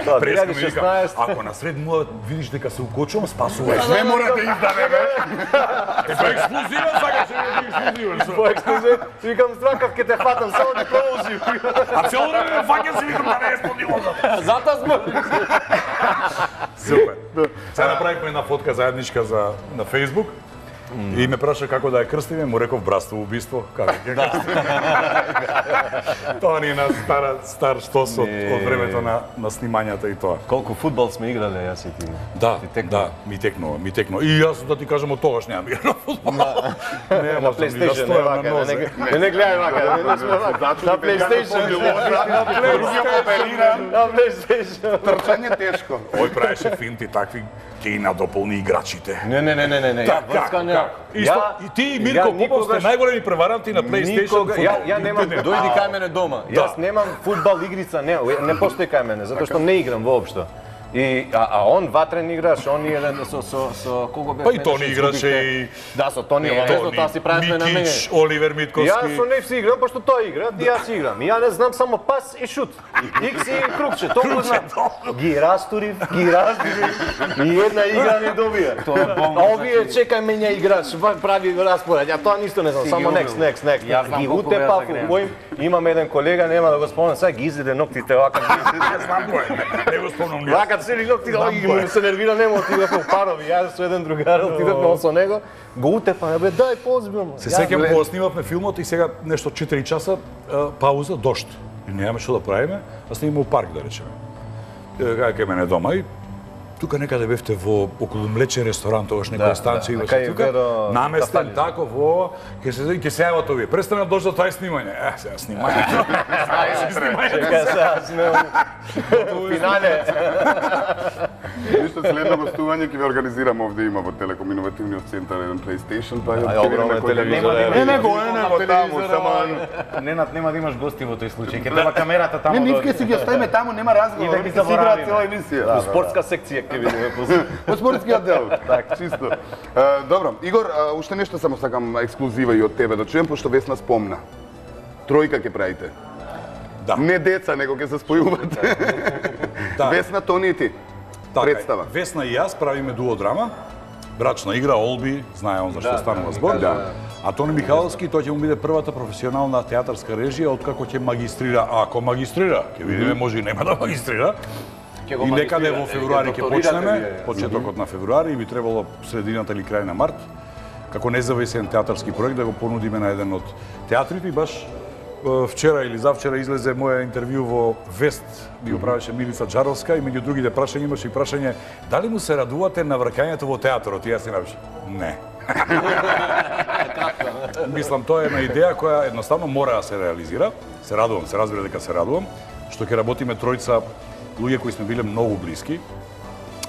Тоа, Преска ми вика, 2016. ако на сред муа видиш дека се укочувам, спасувај. Све мора да издаде, бе. По ексклузива сакаш да ексклузива. По ексклузив, викам стракав ке те фатам, само да продолжи. А цело време фаќам си викам да не е спондилоза. Затоа сме. Супер. Сега направивме една фотка заедничка на Facebook. И ме праша како да ја крстиме, му реков братство убиство. Како ќе крстиме? Тоа ни е на стар штос од времето на снимањата и тоа. Колку фудбал сме играле, јас и ти. Да, ми текнува. И јас да ти кажам од тогаш немам игра на фудбал. Не, На PlayStation, не вака, не гледај вака, не сме вака. На PlayStation, на PlayStation. Трчање тешко. Ој правеше финти такви, ќе ги надополни играчите. Не. И ти и Мирко Попов сте најголеми преваранти на PlayStation. Ја немам, дојди кај мене дома. Јас немам фудбал игрица, не постои кај мене, затоа што не играм воопшто. А он ватрен играш, он е еден со кого бе? Па и Тони играше и... Да, со Тони обвезно, таа си правиме на мене. Микич, Оливер Митковски. Јас со нив си играм, пошто тој игра, и јас играм. Ја не знам само пас и шут. Икс и крупче, толку знам. Ги растурив, и една игра не добија. А овие чекај мене играч, прави распоред. Ја тоа ништо не знам, само next. Ги утепав, имам еден колега, нема да го спомнам, сега ги изеде ноктите вака. Знам кој, не го спомнам ни. Вака цели ноќ ги се нервира, нема отидов во парови, јас со еден другар отидовме со него, го утепаме, бе дај позбилно. Се сеќавам кога снимавме филмот и сега нешто 4 часа пауза, дожд. И немаме што да правиме, а снимаме у парк да речеме. Кај мене дома и тука некаде бевте во околу млечен ресторант, тогаш некоја станција имаше тука. Наместен тако во ќе се јават овие. Престана да дождат тоа снимање. Сега снимање. Чека сега сме финале. Ништо следно гостување ќе ве организирам овде, има во Телеком иновативниот центар еден PlayStation, па ја огромен телевизор. Не таму, само Ненад нема да имаш гости во тој случај. Ќе треба камерата таму. Не, нив ќе си ги оставиме таму, нема разговор. И да ги заборавиме. Цела емисија. Спортска секција ќе видиме после. Во спортскиот дел, така, чисто. Добро, Игор, уште нешто само сакам ексклузива и од тебе да чуем, пошто Весна спомна. Тројка ќе правите. Да. Не деца, него ќе се спојувате. Да. Весна, Тони и ти. Представа. Весна и јас правиме дуодрама. Брачна игра, Олби, знае он за што станува збор. А Тони Михаловски, тој ќе му биде првата професионална театарска режија откако ќе магистрира. Ако магистрира, ќе видиме, може и нема да магистрира. И некаде во февруари ќе почнеме, почетокот на февруари, и би требало средината или крај на март, како независен театарски проект да го понудиме на еден од театрите. И баш вчера или завчера излезе моја интервју во Вест, ми го правеше Милица Джаровска, и меѓу другите прашања имаше и прашање дали му се радувате на враќањето во театарот? И јас си напишав, не. Мислам, тоа е една идеја која едноставно мора да се реализира. Се радувам, се разбира дека се радувам, што ќе работиме тројца луѓе кои сме биле многу блиски.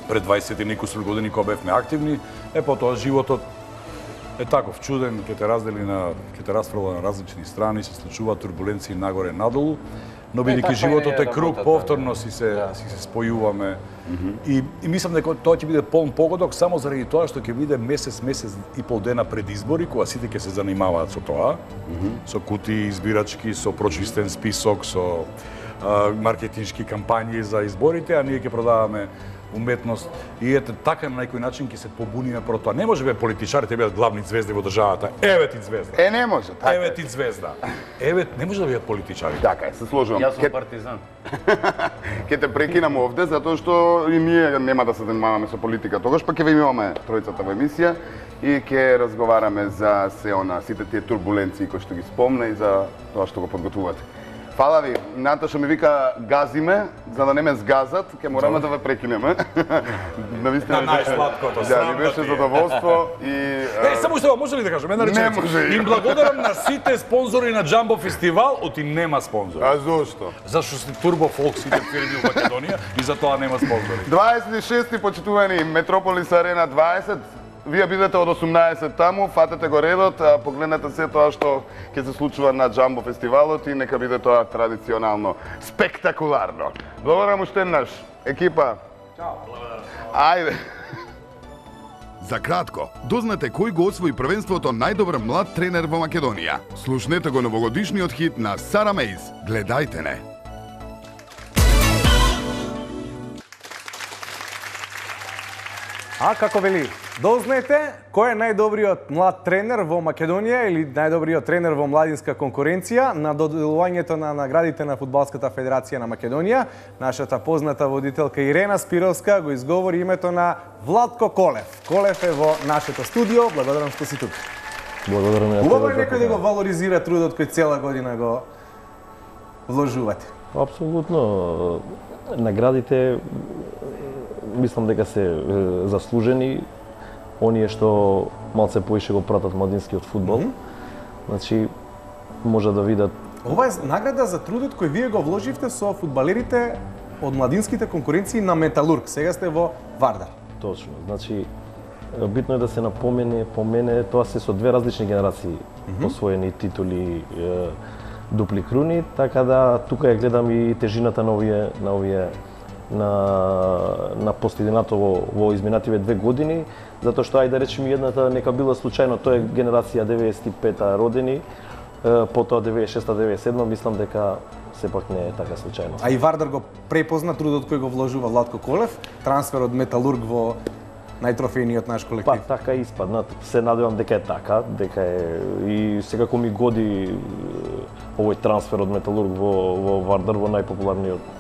Пред 20 и некусур години кога бевме активни, потоа животот е таков чуден, ќе те раздели ќе те расфрла на различни страни, се случуваат турбуленции нагоре надолу, но бидејќи животот е круг, повторно си се спојуваме. И мислам дека тоа ќе биде полн погодок само заради тоа што ќе биде месец и пол дена пред избори, кога сите ќе се занимаваат со тоа, со кутии избирачки, со прочистен список, со маркетиншки кампањи за изборите, а ние ќе продаваме уметност. И ете така на некој начин ќе се побуниме против тоа. Не може бе политичарите бидат главни звезди во државата. Еве ти звезда. Не може, така. Еве ти звезда. Еве не може да бидат политичари. Така е, се сложувам. Јас сум партизан. Ќе те прекинам овде затоа што и ние нема да се занимаваме со политика тогаш, па ќе ве имаме тројцата во емисија и ќе разговараме за сите тие турбуленции кои што ги спомна и за тоа што го подготвувате. Фала ви. Наташа ми вика газиме, за да не ме сгазат, ќе мораме да ве прекинеме. На најсладкото, да, ми беше задоволство и само што може ли да кажам една реченица? Не може. Им благодарам на сите спонзори на Джамбо фестивал, оти нема спонзори. А зошто? Зашто се турбо фолк сите фирми во Македонија и затоа нема спонзори. 26-ти почитувани Метрополис Арена 20. Вие бидете од 18 таму, фатете го редот, погледнете се тоа што ќе се случува на Джамбо фестивалот и нека биде тоа традиционално спектакуларно. Благодарам уште еднаш. Екипа. Чао. Ајде. За кратко, дознате кој го освои првенството најдобар млад тренер во Македонија. Слушнете го новогодишниот хит на Сара Мейс. Гледајте не. А како вели, дознаете кој е најдобриот млад тренер во Македонија или најдобриот тренер во младинска конкуренција на доделувањето на наградите на Фудбалската федерација на Македонија. Нашата позната водителка Ирена Спировска го изговори името на Владко Колев. Колев е во нашето студио. Благодарам што си тук. Благодарам ја. Убаво е некој да го валоризира трудот кој цела година го вложувате. Апсолутно. Наградите мислам дека се заслужени, оние што малце поише го пратат младинскиот фудбал. Значи, може да видат... Ова е награда за трудот кој вие го вложивте со фудбалерите од младинските конкуренции на Металург. Сега сте во Вардар. Точно. Значи, битно е да се напомене, тоа се со две различни генерации освоени титули, дупли круни, така да тука ја гледам и тежината на постигнато во изминативе 2 години, затоа што ајде да речеме едната нека била случајно, тоа е генерација 95-та родени, потоа 96-та, 97-та, мислам дека сепак не е така случајно. А и Вардар го препозна трудот кој го вложува Владко Колев, трансфер од Металург во најтрофејниот наш колектив. Па така испадна, се надевам дека е така, дека е и секако ми годи овој трансфер од Металург во Вардар, во најпопуларниот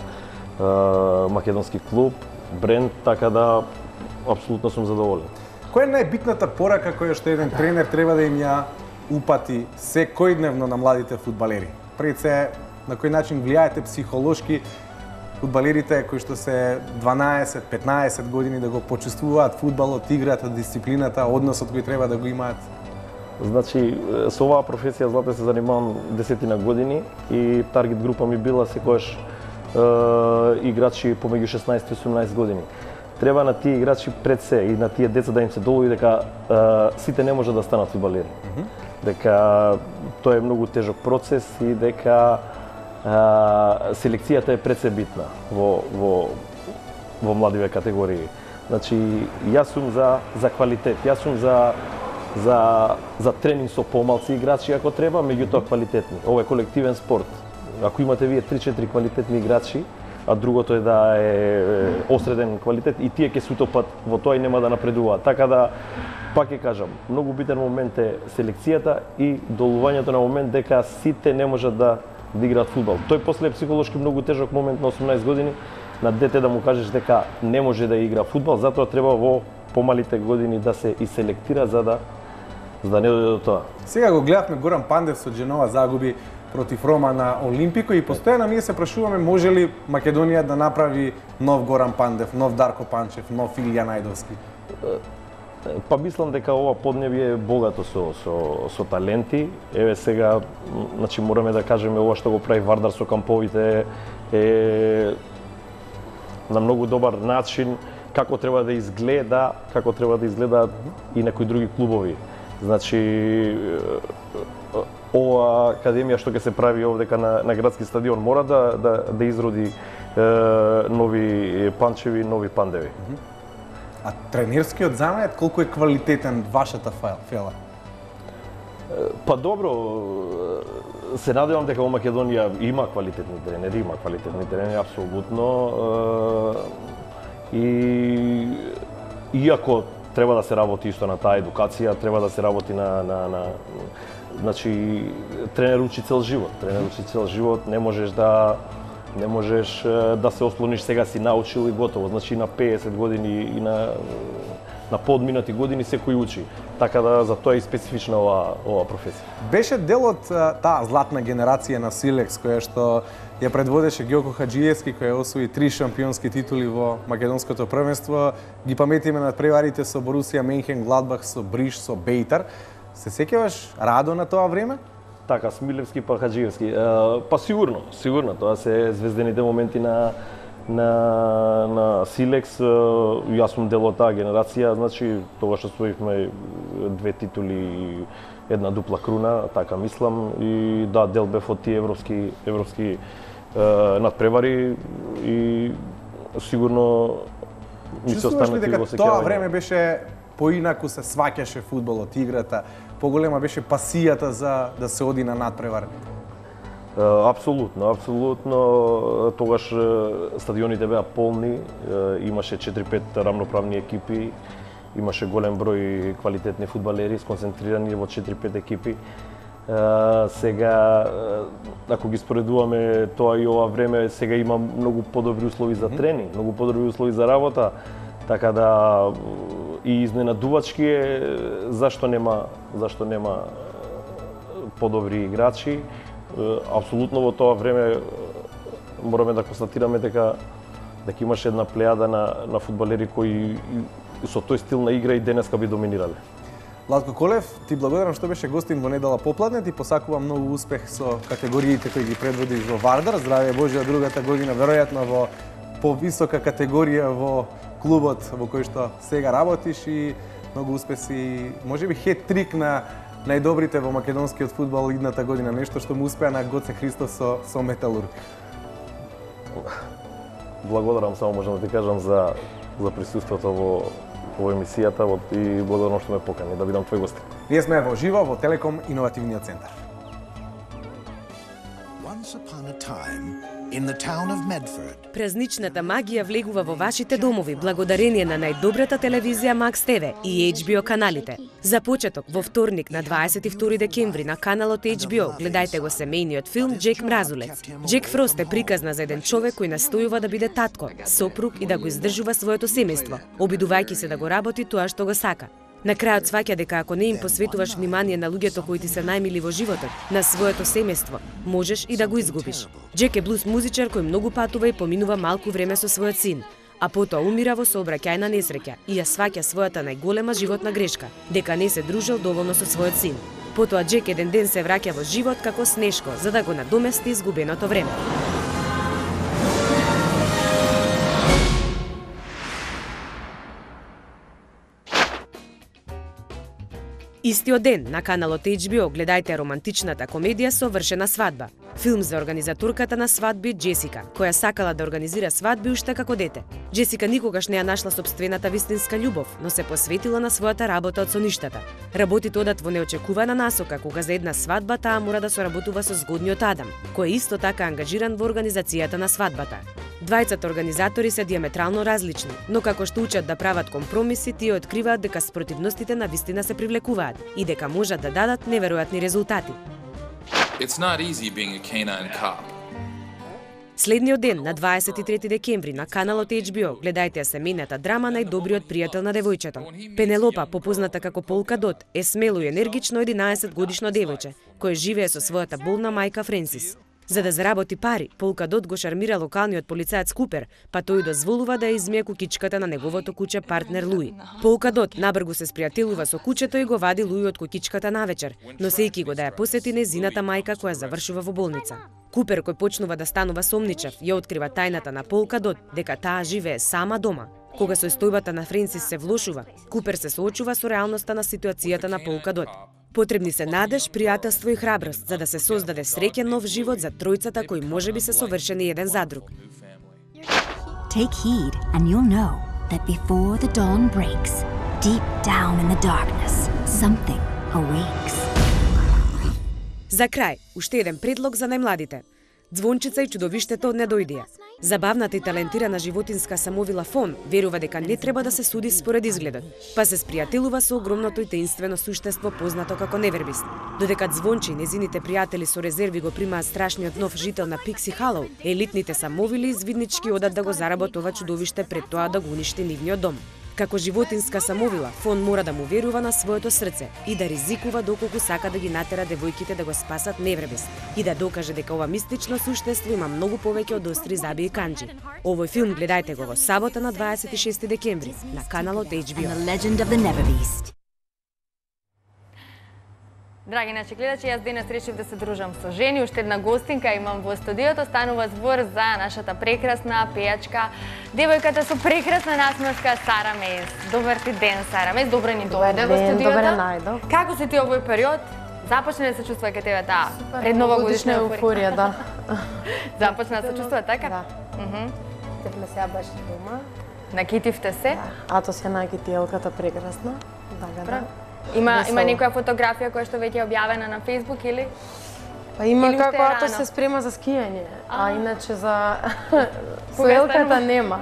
македонски клуб, бренд, така да апсолутно сум задоволен. Која е најбитната порака која што еден тренер треба да им ја упати секојдневно на младите фудбалери? Пред се, на кој начин влијаете психолошки фудбалерите кои што се 12-15 години да го почувствуваат фудбалот, играта, дисциплината, односот кој треба да го имаат? Значи, со оваа професија злате се занимавам 10 години и таргет група ми била секојаш играчи помеѓу 16 и 18 години. Треба на тие играчи пред се и на тие деца да им се долови дека сите не може да станат фудбалери. Дека тоа е многу тежок процес и дека селекцијата е пред се битна во младиве категории. Значи, јас сум за квалитет, јас сум за тренинг со помалци играчи ако треба, меѓутоа квалитетни. Ова е колективен спорт. Ако имате вие 3-4 квалитетни играчи, а другото е да е осреден квалитет и тие ќе се утопат во тоа и нема да напредуваат. Така да, пак ќе кажам, многу битен момент е селекцијата и долувањето на момент дека сите не можат да играат фудбал. Тој после е психолошки многу тежок момент на 18 години на дете да му кажеш дека не може да игра фудбал, затоа треба во помалите години да се и селектира за да не дојде до тоа. Сега го гледавме Горан Пандев со Дженова загуби против Рома на Олимпико и постојано ние се прашуваме може ли Македонија да направи нов Горан Пандев, нов Дарко Панчев, нов Илија Најдовски? Па мислам дека ова поднебје е богато со таленти. Еве сега, значи мораме да кажеме ова што го прави Вардар со камповите е на многу добар начин како треба да изгледаат и некои други клубови. Значи ова академија што ќе се прави овдека на градски стадион мора да изроди нови Панчеви, нови Пандеви. А тренерскиот занет колку е квалитетен вашата фела? Па добро, се надевам дека во Македонија има квалитетни тренери, апсолутно. И иако треба да се работи исто на таа едукација, треба да се работи значи тренер учи цел живот, не можеш да се ослониш сега си научил и готово. Значи на 50 години и на подминати години секој учи. Така да за тоа е специфична ова професија. Беше дел од таа златна генерација на Силекс која што ја предводеше Ѓоко Хаџиевски, кој освои 3 шампионски титули во македонското првенство. Ги паметиме на преварите со Борусија Менхен, Гладбах, со Бриш, со Бејтар. Се сеќаваш радо на тоа време? Така, Смилевски па Хаџиевски. Па сигурно, тоа се звездените моменти на Силекс. Јас сум дел од таа генерација, значи тогаш освоивме 2 титули и 1 дупла круна, така мислам, и да, дел бев од тие европски надпревари и сигурно ми се останати во сеќавање. Чувствуваш ли дека тоа време беше поинаку се сваќаше фудбалот, играта, поголема беше пасијата за да се оди на надпревар? Апсолутно. Тогаш стадионите беа полни, имаше 4-5 рамноправни екипи, имаше голем број квалитетни фудбалери сконцентрирани во 4-5 екипи. Сега, ако ги споредуваме тоа и ова време, сега има многу подобри услови за тренинг, многу подобри услови за работа, така да и изненадувачки е зашто нема подобри играчи. Апсолутно во тоа време мораме да констатираме дека имаше една плејада на фудбалери кои со тој стил на игра и денеска би доминирале. Владко Колев, ти благодарам што беше гостин во недела попладне, ти посакувам многу успех со категориите кои ги предводиш во Вардар. Здравје Божје од другата година, веројатно во повисока категорија во клубот во кој што сега работиш и многу успеси, можеби хет-трик на најдобрите во македонскиот фудбал идната година, нешто што му успеа на Гоце Христос со Металург. Благодарам, само можам да ти кажам за присуството во емисијата и благодарам што ме покани да бидам твој гост. Ние сме во живо во Телеком Иновативниот центар. Once upon a time in the town of Medford. Празничната магија влегува во вашите домови благодарение на најдобрата телевизија Max TV и HBO каналите. За почеток, во вторник на 22 декември на каналот HBO гледајте го семејниот филм Джек Мразулец. Джек Фрост е приказна за еден човек кој настојува да биде татко, сопруг и да го издржува своето семејство, обидувајќи се да го работи тоа што го сака. На крајот сваќа дека ако не им посветуваш внимание на луѓето кои ти се најмили во животот, на своето семејство, можеш и да го изгубиш. Джек е блуз музичар кој многу патува и поминува малку време со својот син, а потоа умира во сообраќајна несреќа и ја сваќа својата најголема животна грешка, дека не се дружел доволно со својот син. Потоа Джек еден ден се враќа во живот како Снешко за да го надомести изгубеното време. Истиот ден на каналот HBO гледајте романтичната комедија Совршена свадба. Филм за организаторката на свадби Джесика, која сакала да организира свадби уште како дете. Джесика никогаш не ја нашла сопствената вистинска љубов, но се посветила на својата работа од соништата. Работите одат во неочекувана насока, кога за една свадба таа мора да соработува со згодниот Адам, кој е исто така ангажиран во организацијата на свадбата. Двајцата организатори се диаметрално различни, но како што учат да прават компромиси, тие откриваат дека спротивностите на вистина се привлекуваат и дека можат да дадат неверојатни резултати. It's not easy being a canine cop. Следниот ден, на 23 декември, на каналот HBO, гледајте семејната драма Најдобриот пријател на девојчето. Пенелопа, попозната како Полка Дот, е смело и енергично 11-годишно девојче, кое живее со својата болна мајка Френсис. За да заработи пари, Полка Дот го шармира локалниот полицаец Купер, па тој дозволува да ја измие кукичката на неговото куче партнер Луи. Полка Дот набргу се спријателува со кучето и го вади Луи од кукичката навечер, носејќи го да ја посети незината мајка која завршува во болница. Купер, кој почнува да станува сомничав, ја открива тајната на Полка Дот, дека таа живее сама дома. Кога состојбата на Френсис се влошува, Купер се соочува со реалноста на ситуацијата на Полка Дот. Потребни се надеж, пријателство и храброст за да се создаде среќен нов живот за тројцата кои можеби се совршени еден за друг. Take heed and you'll know that before the dawn breaks, deep down in the darkness, something awakes. За крај, уште еден предлог за најмладите. Звончица и чудовиштето не дојдија. Забавната и талентирана животинска самовила Фон верува дека не треба да се суди според изгледот, па се спријателува со огромното и таинствено суштество познато како Невербист. Додека Звонче и незините пријатели со резерви го примаат страшниот нов жител на Пикси Халоу, елитните самовили извиднички одат да го зарабат ова чудовиште пред тоа да го уништи нивниот дом. Како животинска самовила, Фон мора да му верува на своето срце и да ризикува доколку сака да ги натера девојките да го спасат Невребест и да докаже дека ова мистично суштество има многу повеќе од остри заби и канџи. Овој филм гледајте го во сабота на 26 декември на каналот HBO. Драги наши гледачи, јас денес решив да се дружам со жени. Уште една гостинка имам во студиото. Станува збор за нашата прекрасна пејачка, девојката со прекрасна насмевка Сара Мејс. Добар ти ден, Сара Мејс. Добро ни дојде во студиото. Добре најдов. Како си ти овој период? Започна да се чувства кај тебе таа предновогодишна еуфорија, да. Започна да се чувства така? Да. Сте сега баш дома. Накитивте се? Атос ја накити елката прекрасна. Да. Има некоја фотографија која што веќе е објавена на Facebook или? Па има како Атос се спрема за скијање, а иначе за со елката нема.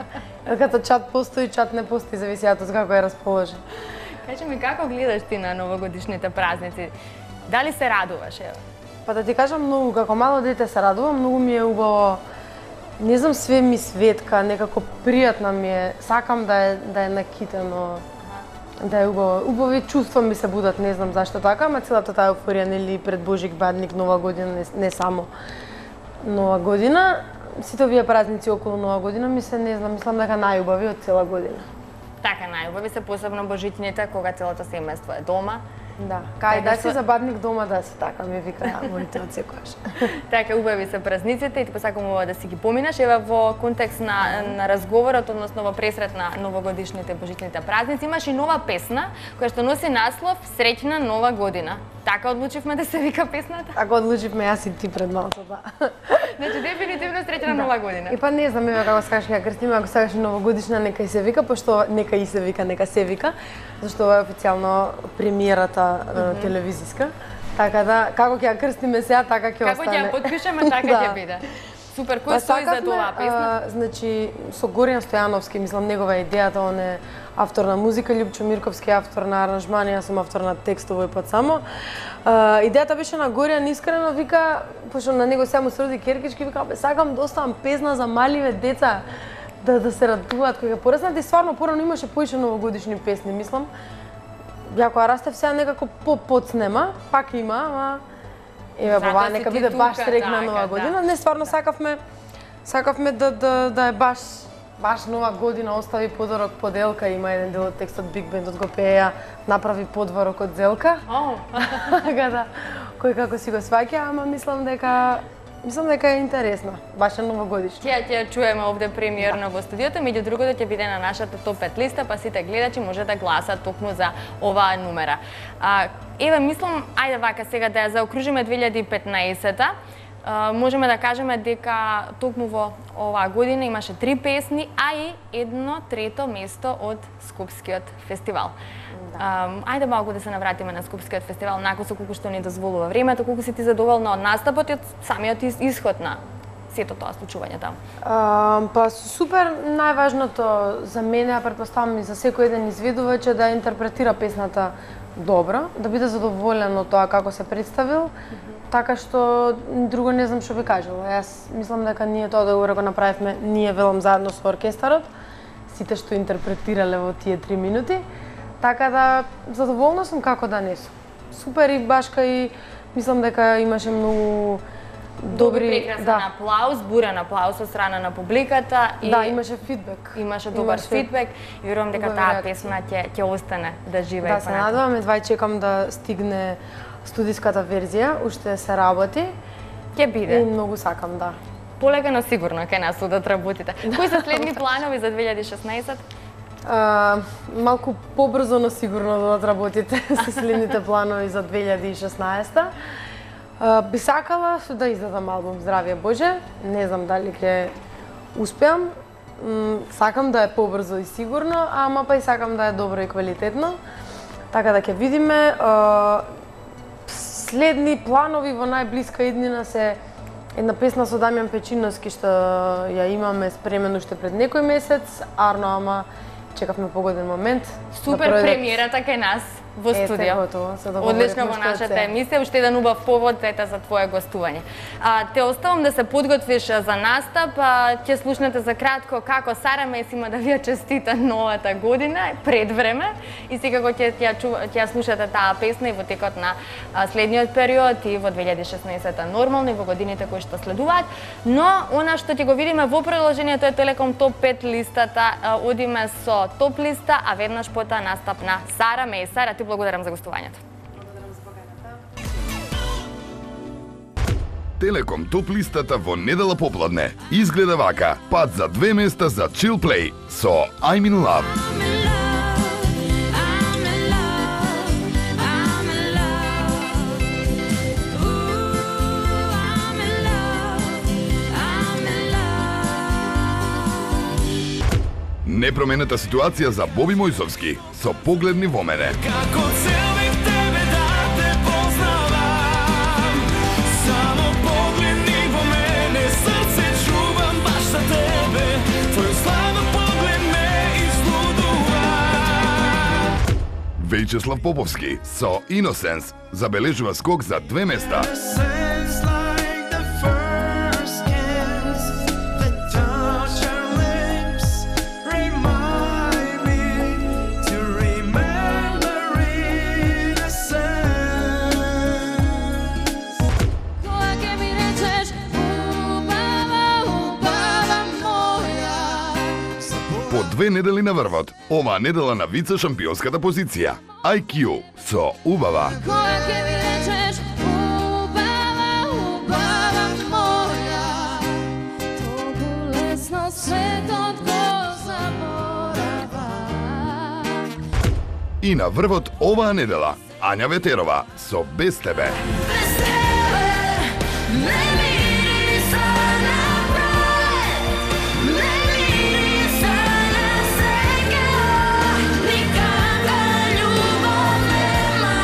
Елката чат постои, чат не постои, зависи Атос како е расположен. Кажи ми, како гледаш ти на новогодишните празници? Дали се радуваш, ево? Па да ти кажам, многу, како мало дете се радувам, многу ми е убаво. Не знам, све ми светка, некако пријатна ми е. Сакам да е накитено, да е убаво. Убави чувства ми се будат, не знам зашто така, ама целата таа еуфорија, нели, пред Божик, Бадник, Нова година, не само Нова година. Сите овие празници околу Нова година ми се, не знам, мислам дека најубави од цела година. Така, најубави се посебно божитните, кога целото семејство е дома. Да, кај да си забадник дома да си, така ми вика моите од секојаш. Така, убави се празниците и ти посакам да си ги поминаш. Ева во контекст на разговорот, односно во пресрет на новогодишните божитните празници, имаш и нова песна која што носи наслов Среќна нова година. Така одлучивме да се вика песната? Така одлучивме јас и ти пред малку, да. Значи дефинитивно Среќна нова година. И па не знам, еве како сакаш ја крстиме, ако сакаш новогодишна нека и се вика, пошто нека и се вика, нека се вика, зашто ова е официјално премиерата телевизиска. Така да, како ќе ја крстиме сега, така ќе остане. Како ќе ја потпишеме, така ќе биде. Супер, кој стои за тоа песна? Значи, со Горијан Стојановски, мислам, негова е идејата, он е автор на музика, Љупчо Мирковски автор на аранжмани, јас сум автор на текст овој пат само. Идејата беше на Горијан, искрено вика, пошто на него сега му се роди керкички, вика, сакам да оставам песна за маливе деца, да се радуваат кога ќе пораснат, и стварно порано имаше поише новогодишни песни, мислам. Ја кога растев сега некако по-подснема, пак има, ама еве баба, нека биде баш среќна нова година. Не, стварно сакавме да е баш нова година, остави подворок под елка, има еден дел од текстот Биг Бендот го пееја, направи подворок од зелка. Така да, кој како си го сваќа, ама мислам дека е интересна, баш е новогодишна. Ќе чуеме овде премиерно во студиото, меѓу другото ќе биде на нашата топ 5 листа, па сите гледачи може да гласат токму за оваа номера. Еве, мислам, ајде вака сега да ја заокружиме 2015-та. Можеме да кажеме дека токму во оваа година имаше 3 песни, а и 1/3 место од Скопскиот фестивал. Ајде малку да се навратиме на Скопскиот фестивал, накусо колку што ни дозволува времето, колку си ти задоволна од настапот и од самиот исход на сето тоа случување таму? Па супер, најважното за мене, а претпоставам и за секој еден изведувач, е да интерпретира песната добро, да биде задоволен од тоа како се представил, така што друго не знам што би кажала. Јас мислам дека ние тоа да го направивме, ние велам заедно со оркестарот, сите што интерпретирале во тие 3 минути. Така да, задоволна сум како да не сум. Супер, и баш кај, мислам дека имаше многу добри... Прекрасен аплауз, бурен аплауз од страна на публиката. Да, имаше фидбек. Имаше добар фидбек и верувам дека таа песна ќе остане да живее. Да, се надевам, едва чекам да стигне студиската верзија, уште се работи. Ќе биде. И многу сакам, да. Полека, но сигурно ќе нас удат работите. Кои се следни планови за 2016? Малку побрзо, но сигурно да отработите со следните планови за 2016. Би сакала да издадам албум Здравје Боже, не знам дали ќе успеам. Сакам да е побрзо и сигурно, ама па и сакам да е добро и квалитетно. Така да ќе видиме. Следни планови во најблиска иднина се една песна со Дамјан Печиновски што ја имаме спремено уште пред некој месец, Арно, ама чекавме погоден момент. Супер премиерата кај нас во студио. Одлично во нашата емисија, уште еден убав повод за твое гостување. Те оставам да се подготвиш за настап, ќе слушнете за кратко како Сара Мес има да ви ја честита новата година пред време и секако ќе слушате таа песна и во текот на следниот период и во 2016-та нормално и во годините кои што следуваат. Но она што ќе го видиме во продолжението е Телеком Топ 5 листата, одиме со топ листа, а веднаш потоа настап на Сара Мес. Сара, ти благодарам за гостувањето. Телеком топ листата во недела попладне изгледа вака: пат за 2 места за Chill Play со I'm in Love. Непроменета ситуација за Боби Мојсовски со Погледни во мене. Како цел бих тебе да те познавам, само погледни во мене, срце чувам баш за тебе, твој слава поглед ме излудува. Вејчеслав Поповски со Innocence забележува скок за 2 места. По 2 недели на врвот, оваа недела на вице шампионската позиција. IQ со Убава. Која ќе ми речеш, убава, убава моја, толку лесно светот го заборава. И на врвот оваа недела, Ања Ветерова со Без тебе. Без тебе не мириса напред, не мириса на сега, никаква љубов нема.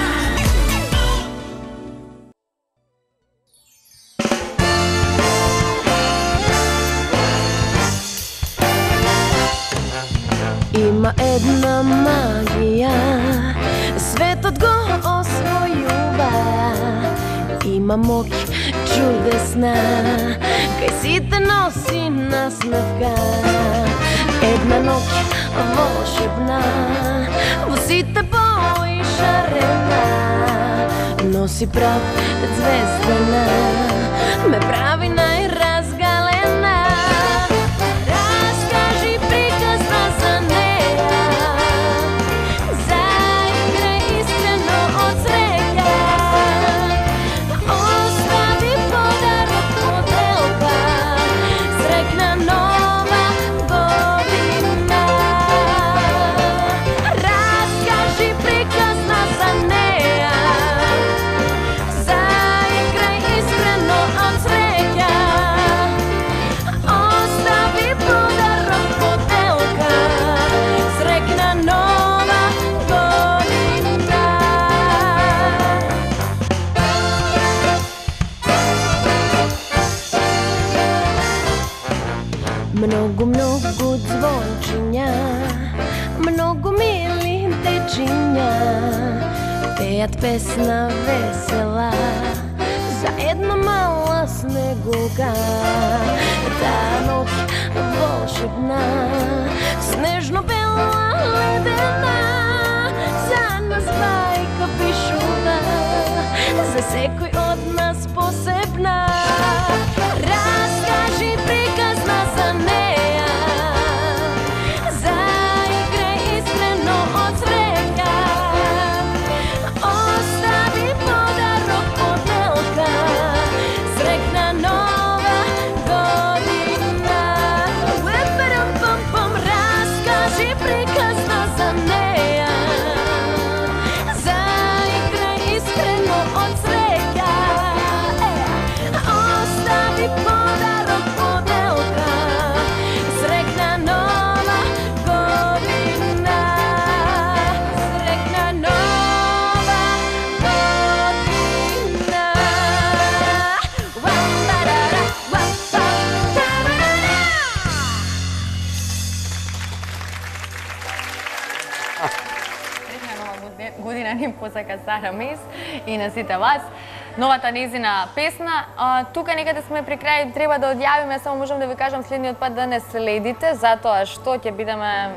Има една магија, светот го освојува. Има моќ чудесна, кај сите носи насмевка. Една ноќ волшебна, во сите бои шарена, носи прав звездена, ме прави најразгалена. Раскажи приказна за неа, заиграј искрено од среќа, остави подарок поделка, среќна нова година. Раскажи приказна за неа, заиграј искрено од среќа, остави подарок поделка, среќна нова година. Многу, многу звончиња, многу мили дечиња, пеат песна весела за една мала снегулка. Таа ноќ волшебна, снежно бела ледена, за нас бајка пишува, за секој од нас посебна. Раскажи приказна за неа, заиграј искрено од среќа, остави подарок поделка, среќна нова година. Уепарам-пам-пам, раскажи приказна за неа, заиграј искрено од среќа, остави подарок поделка, среќна нова година, среќна нова година. Уам-барара, уам-пам-тарара. Среќна нова година ни посака Сара Мес и на сите вас. Новата незина песна. Тука некаде сме при крај, треба да одјавиме, само можам да ви кажам следниот пат да не следите, затоа што ќе бидеме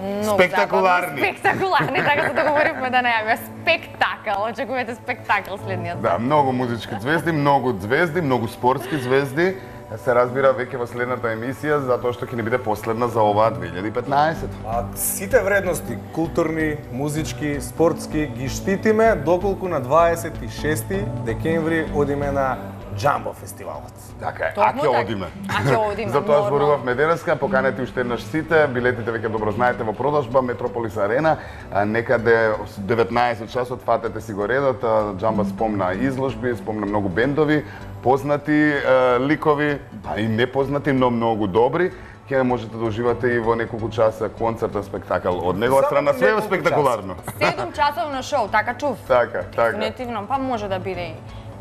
многу Спектакуларни. забавни. Спектакуларни, така се договоривме да најавиме спектакл. Очекувате спектакл следниот пат. Да, многу музички звезди, многу спортски звезди. Се разбира веќе во следната емисија, затоа што ќе не биде последна за оваа 2015. Сите вредности, културни, музички, спортски, ги штитиме, доколку на 26 декември одиме на Джамбо фестивалот. Така е, Токму аќе така. одиме. Аќе одиме, Затоа нормално. зборувавме денеска, поканете уште еднаш сите, билетите веќе добро знаете во продажба, Метрополис Арена, некаде 19 часот фатете си го редот, Джамба спомна изложби, спомна многу бендови, познати ликови, па и непознати, но многу добри. ќе можете да уживате и во неколку часа концерт, спектакл од негова страна, све е спектакуларно. 7 часовно шоу, така чув? Така. Дефинитивно, па може да биде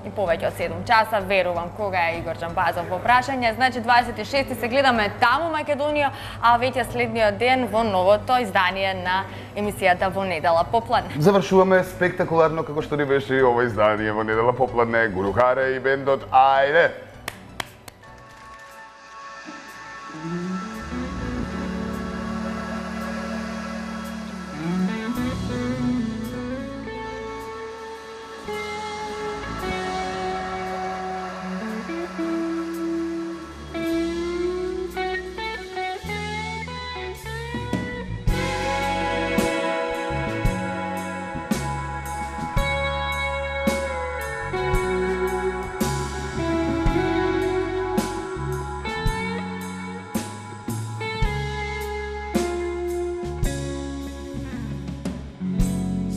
и повеќе од 7 часа, верувам кога е Игор Џамбазов во прашање. Значи 26 се гледаме таму Македонија, а веќе следниот ден во новото издание на емисијата Во недела попладне. Завршуваме спектакуларно како што ни беше и ова издание Во недела попладне. Гурухаре и бендот, ајде!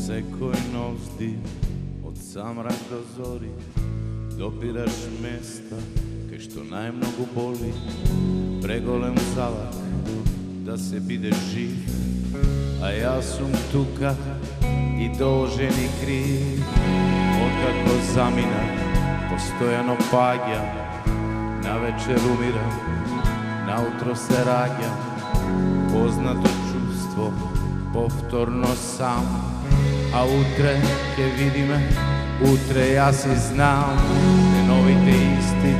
Секој нов здив, од самрак до зори, допираш места кај што најмногу боли. Преголем залак да се биде жив, а јас сум тука и должен и крив. Откако заминав, постојано паѓам, навечер умирам, наутро се раѓам. Познато чувство, повторно сам, а утре ќе видиме, утре јас и знам. Деновите исти,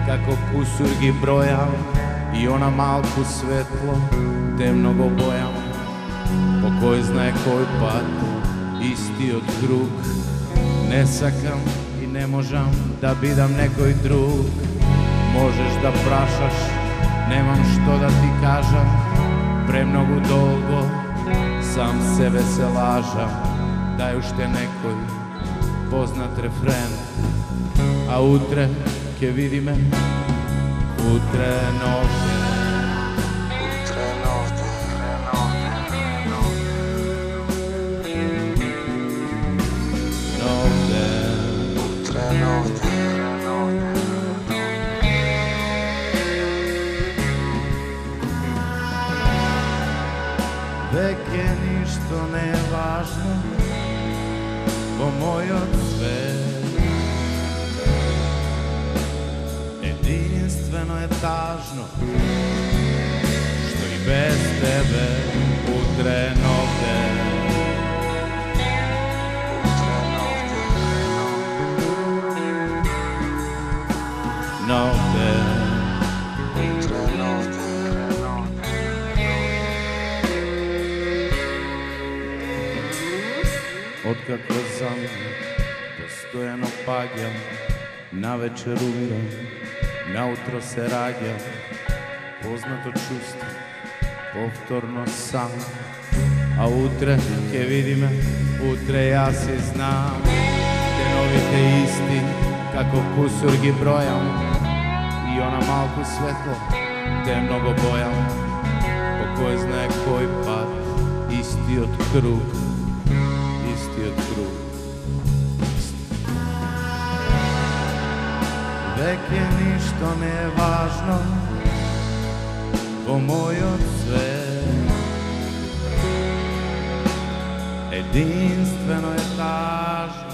како кусур ги бројам, и она малку светло, темно го бојам. По кој знае кој пат, истиот круг, не сакам и не можам да бидам некој друг. Можеш да прашаш, немам што да ти кажам, премногу долго сам себе се лажам. Дај уште некој познат рефрен, а утре ќе видиме, утре нов ден, утре нов ден, нов ден, утре нов ден. Веќе ништо не е важно во мојот свет. Единствено е тажно што и без тебе утре нов ден. Нов ден. Утре нов ден. Откако заминав, постојано паѓам, навечер умирам, наутро се раѓам. Познато чувство, повторно сам, а утре ќе видиме, утре јас и знам. Деновите исти, како кусур ги бројам, и она малку светло, темно го бојам. По кој знае кој пат, истиот круг, истиот круг. Веќе ништо не е важно во мојот свет. Единствено е тажно.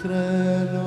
iskreno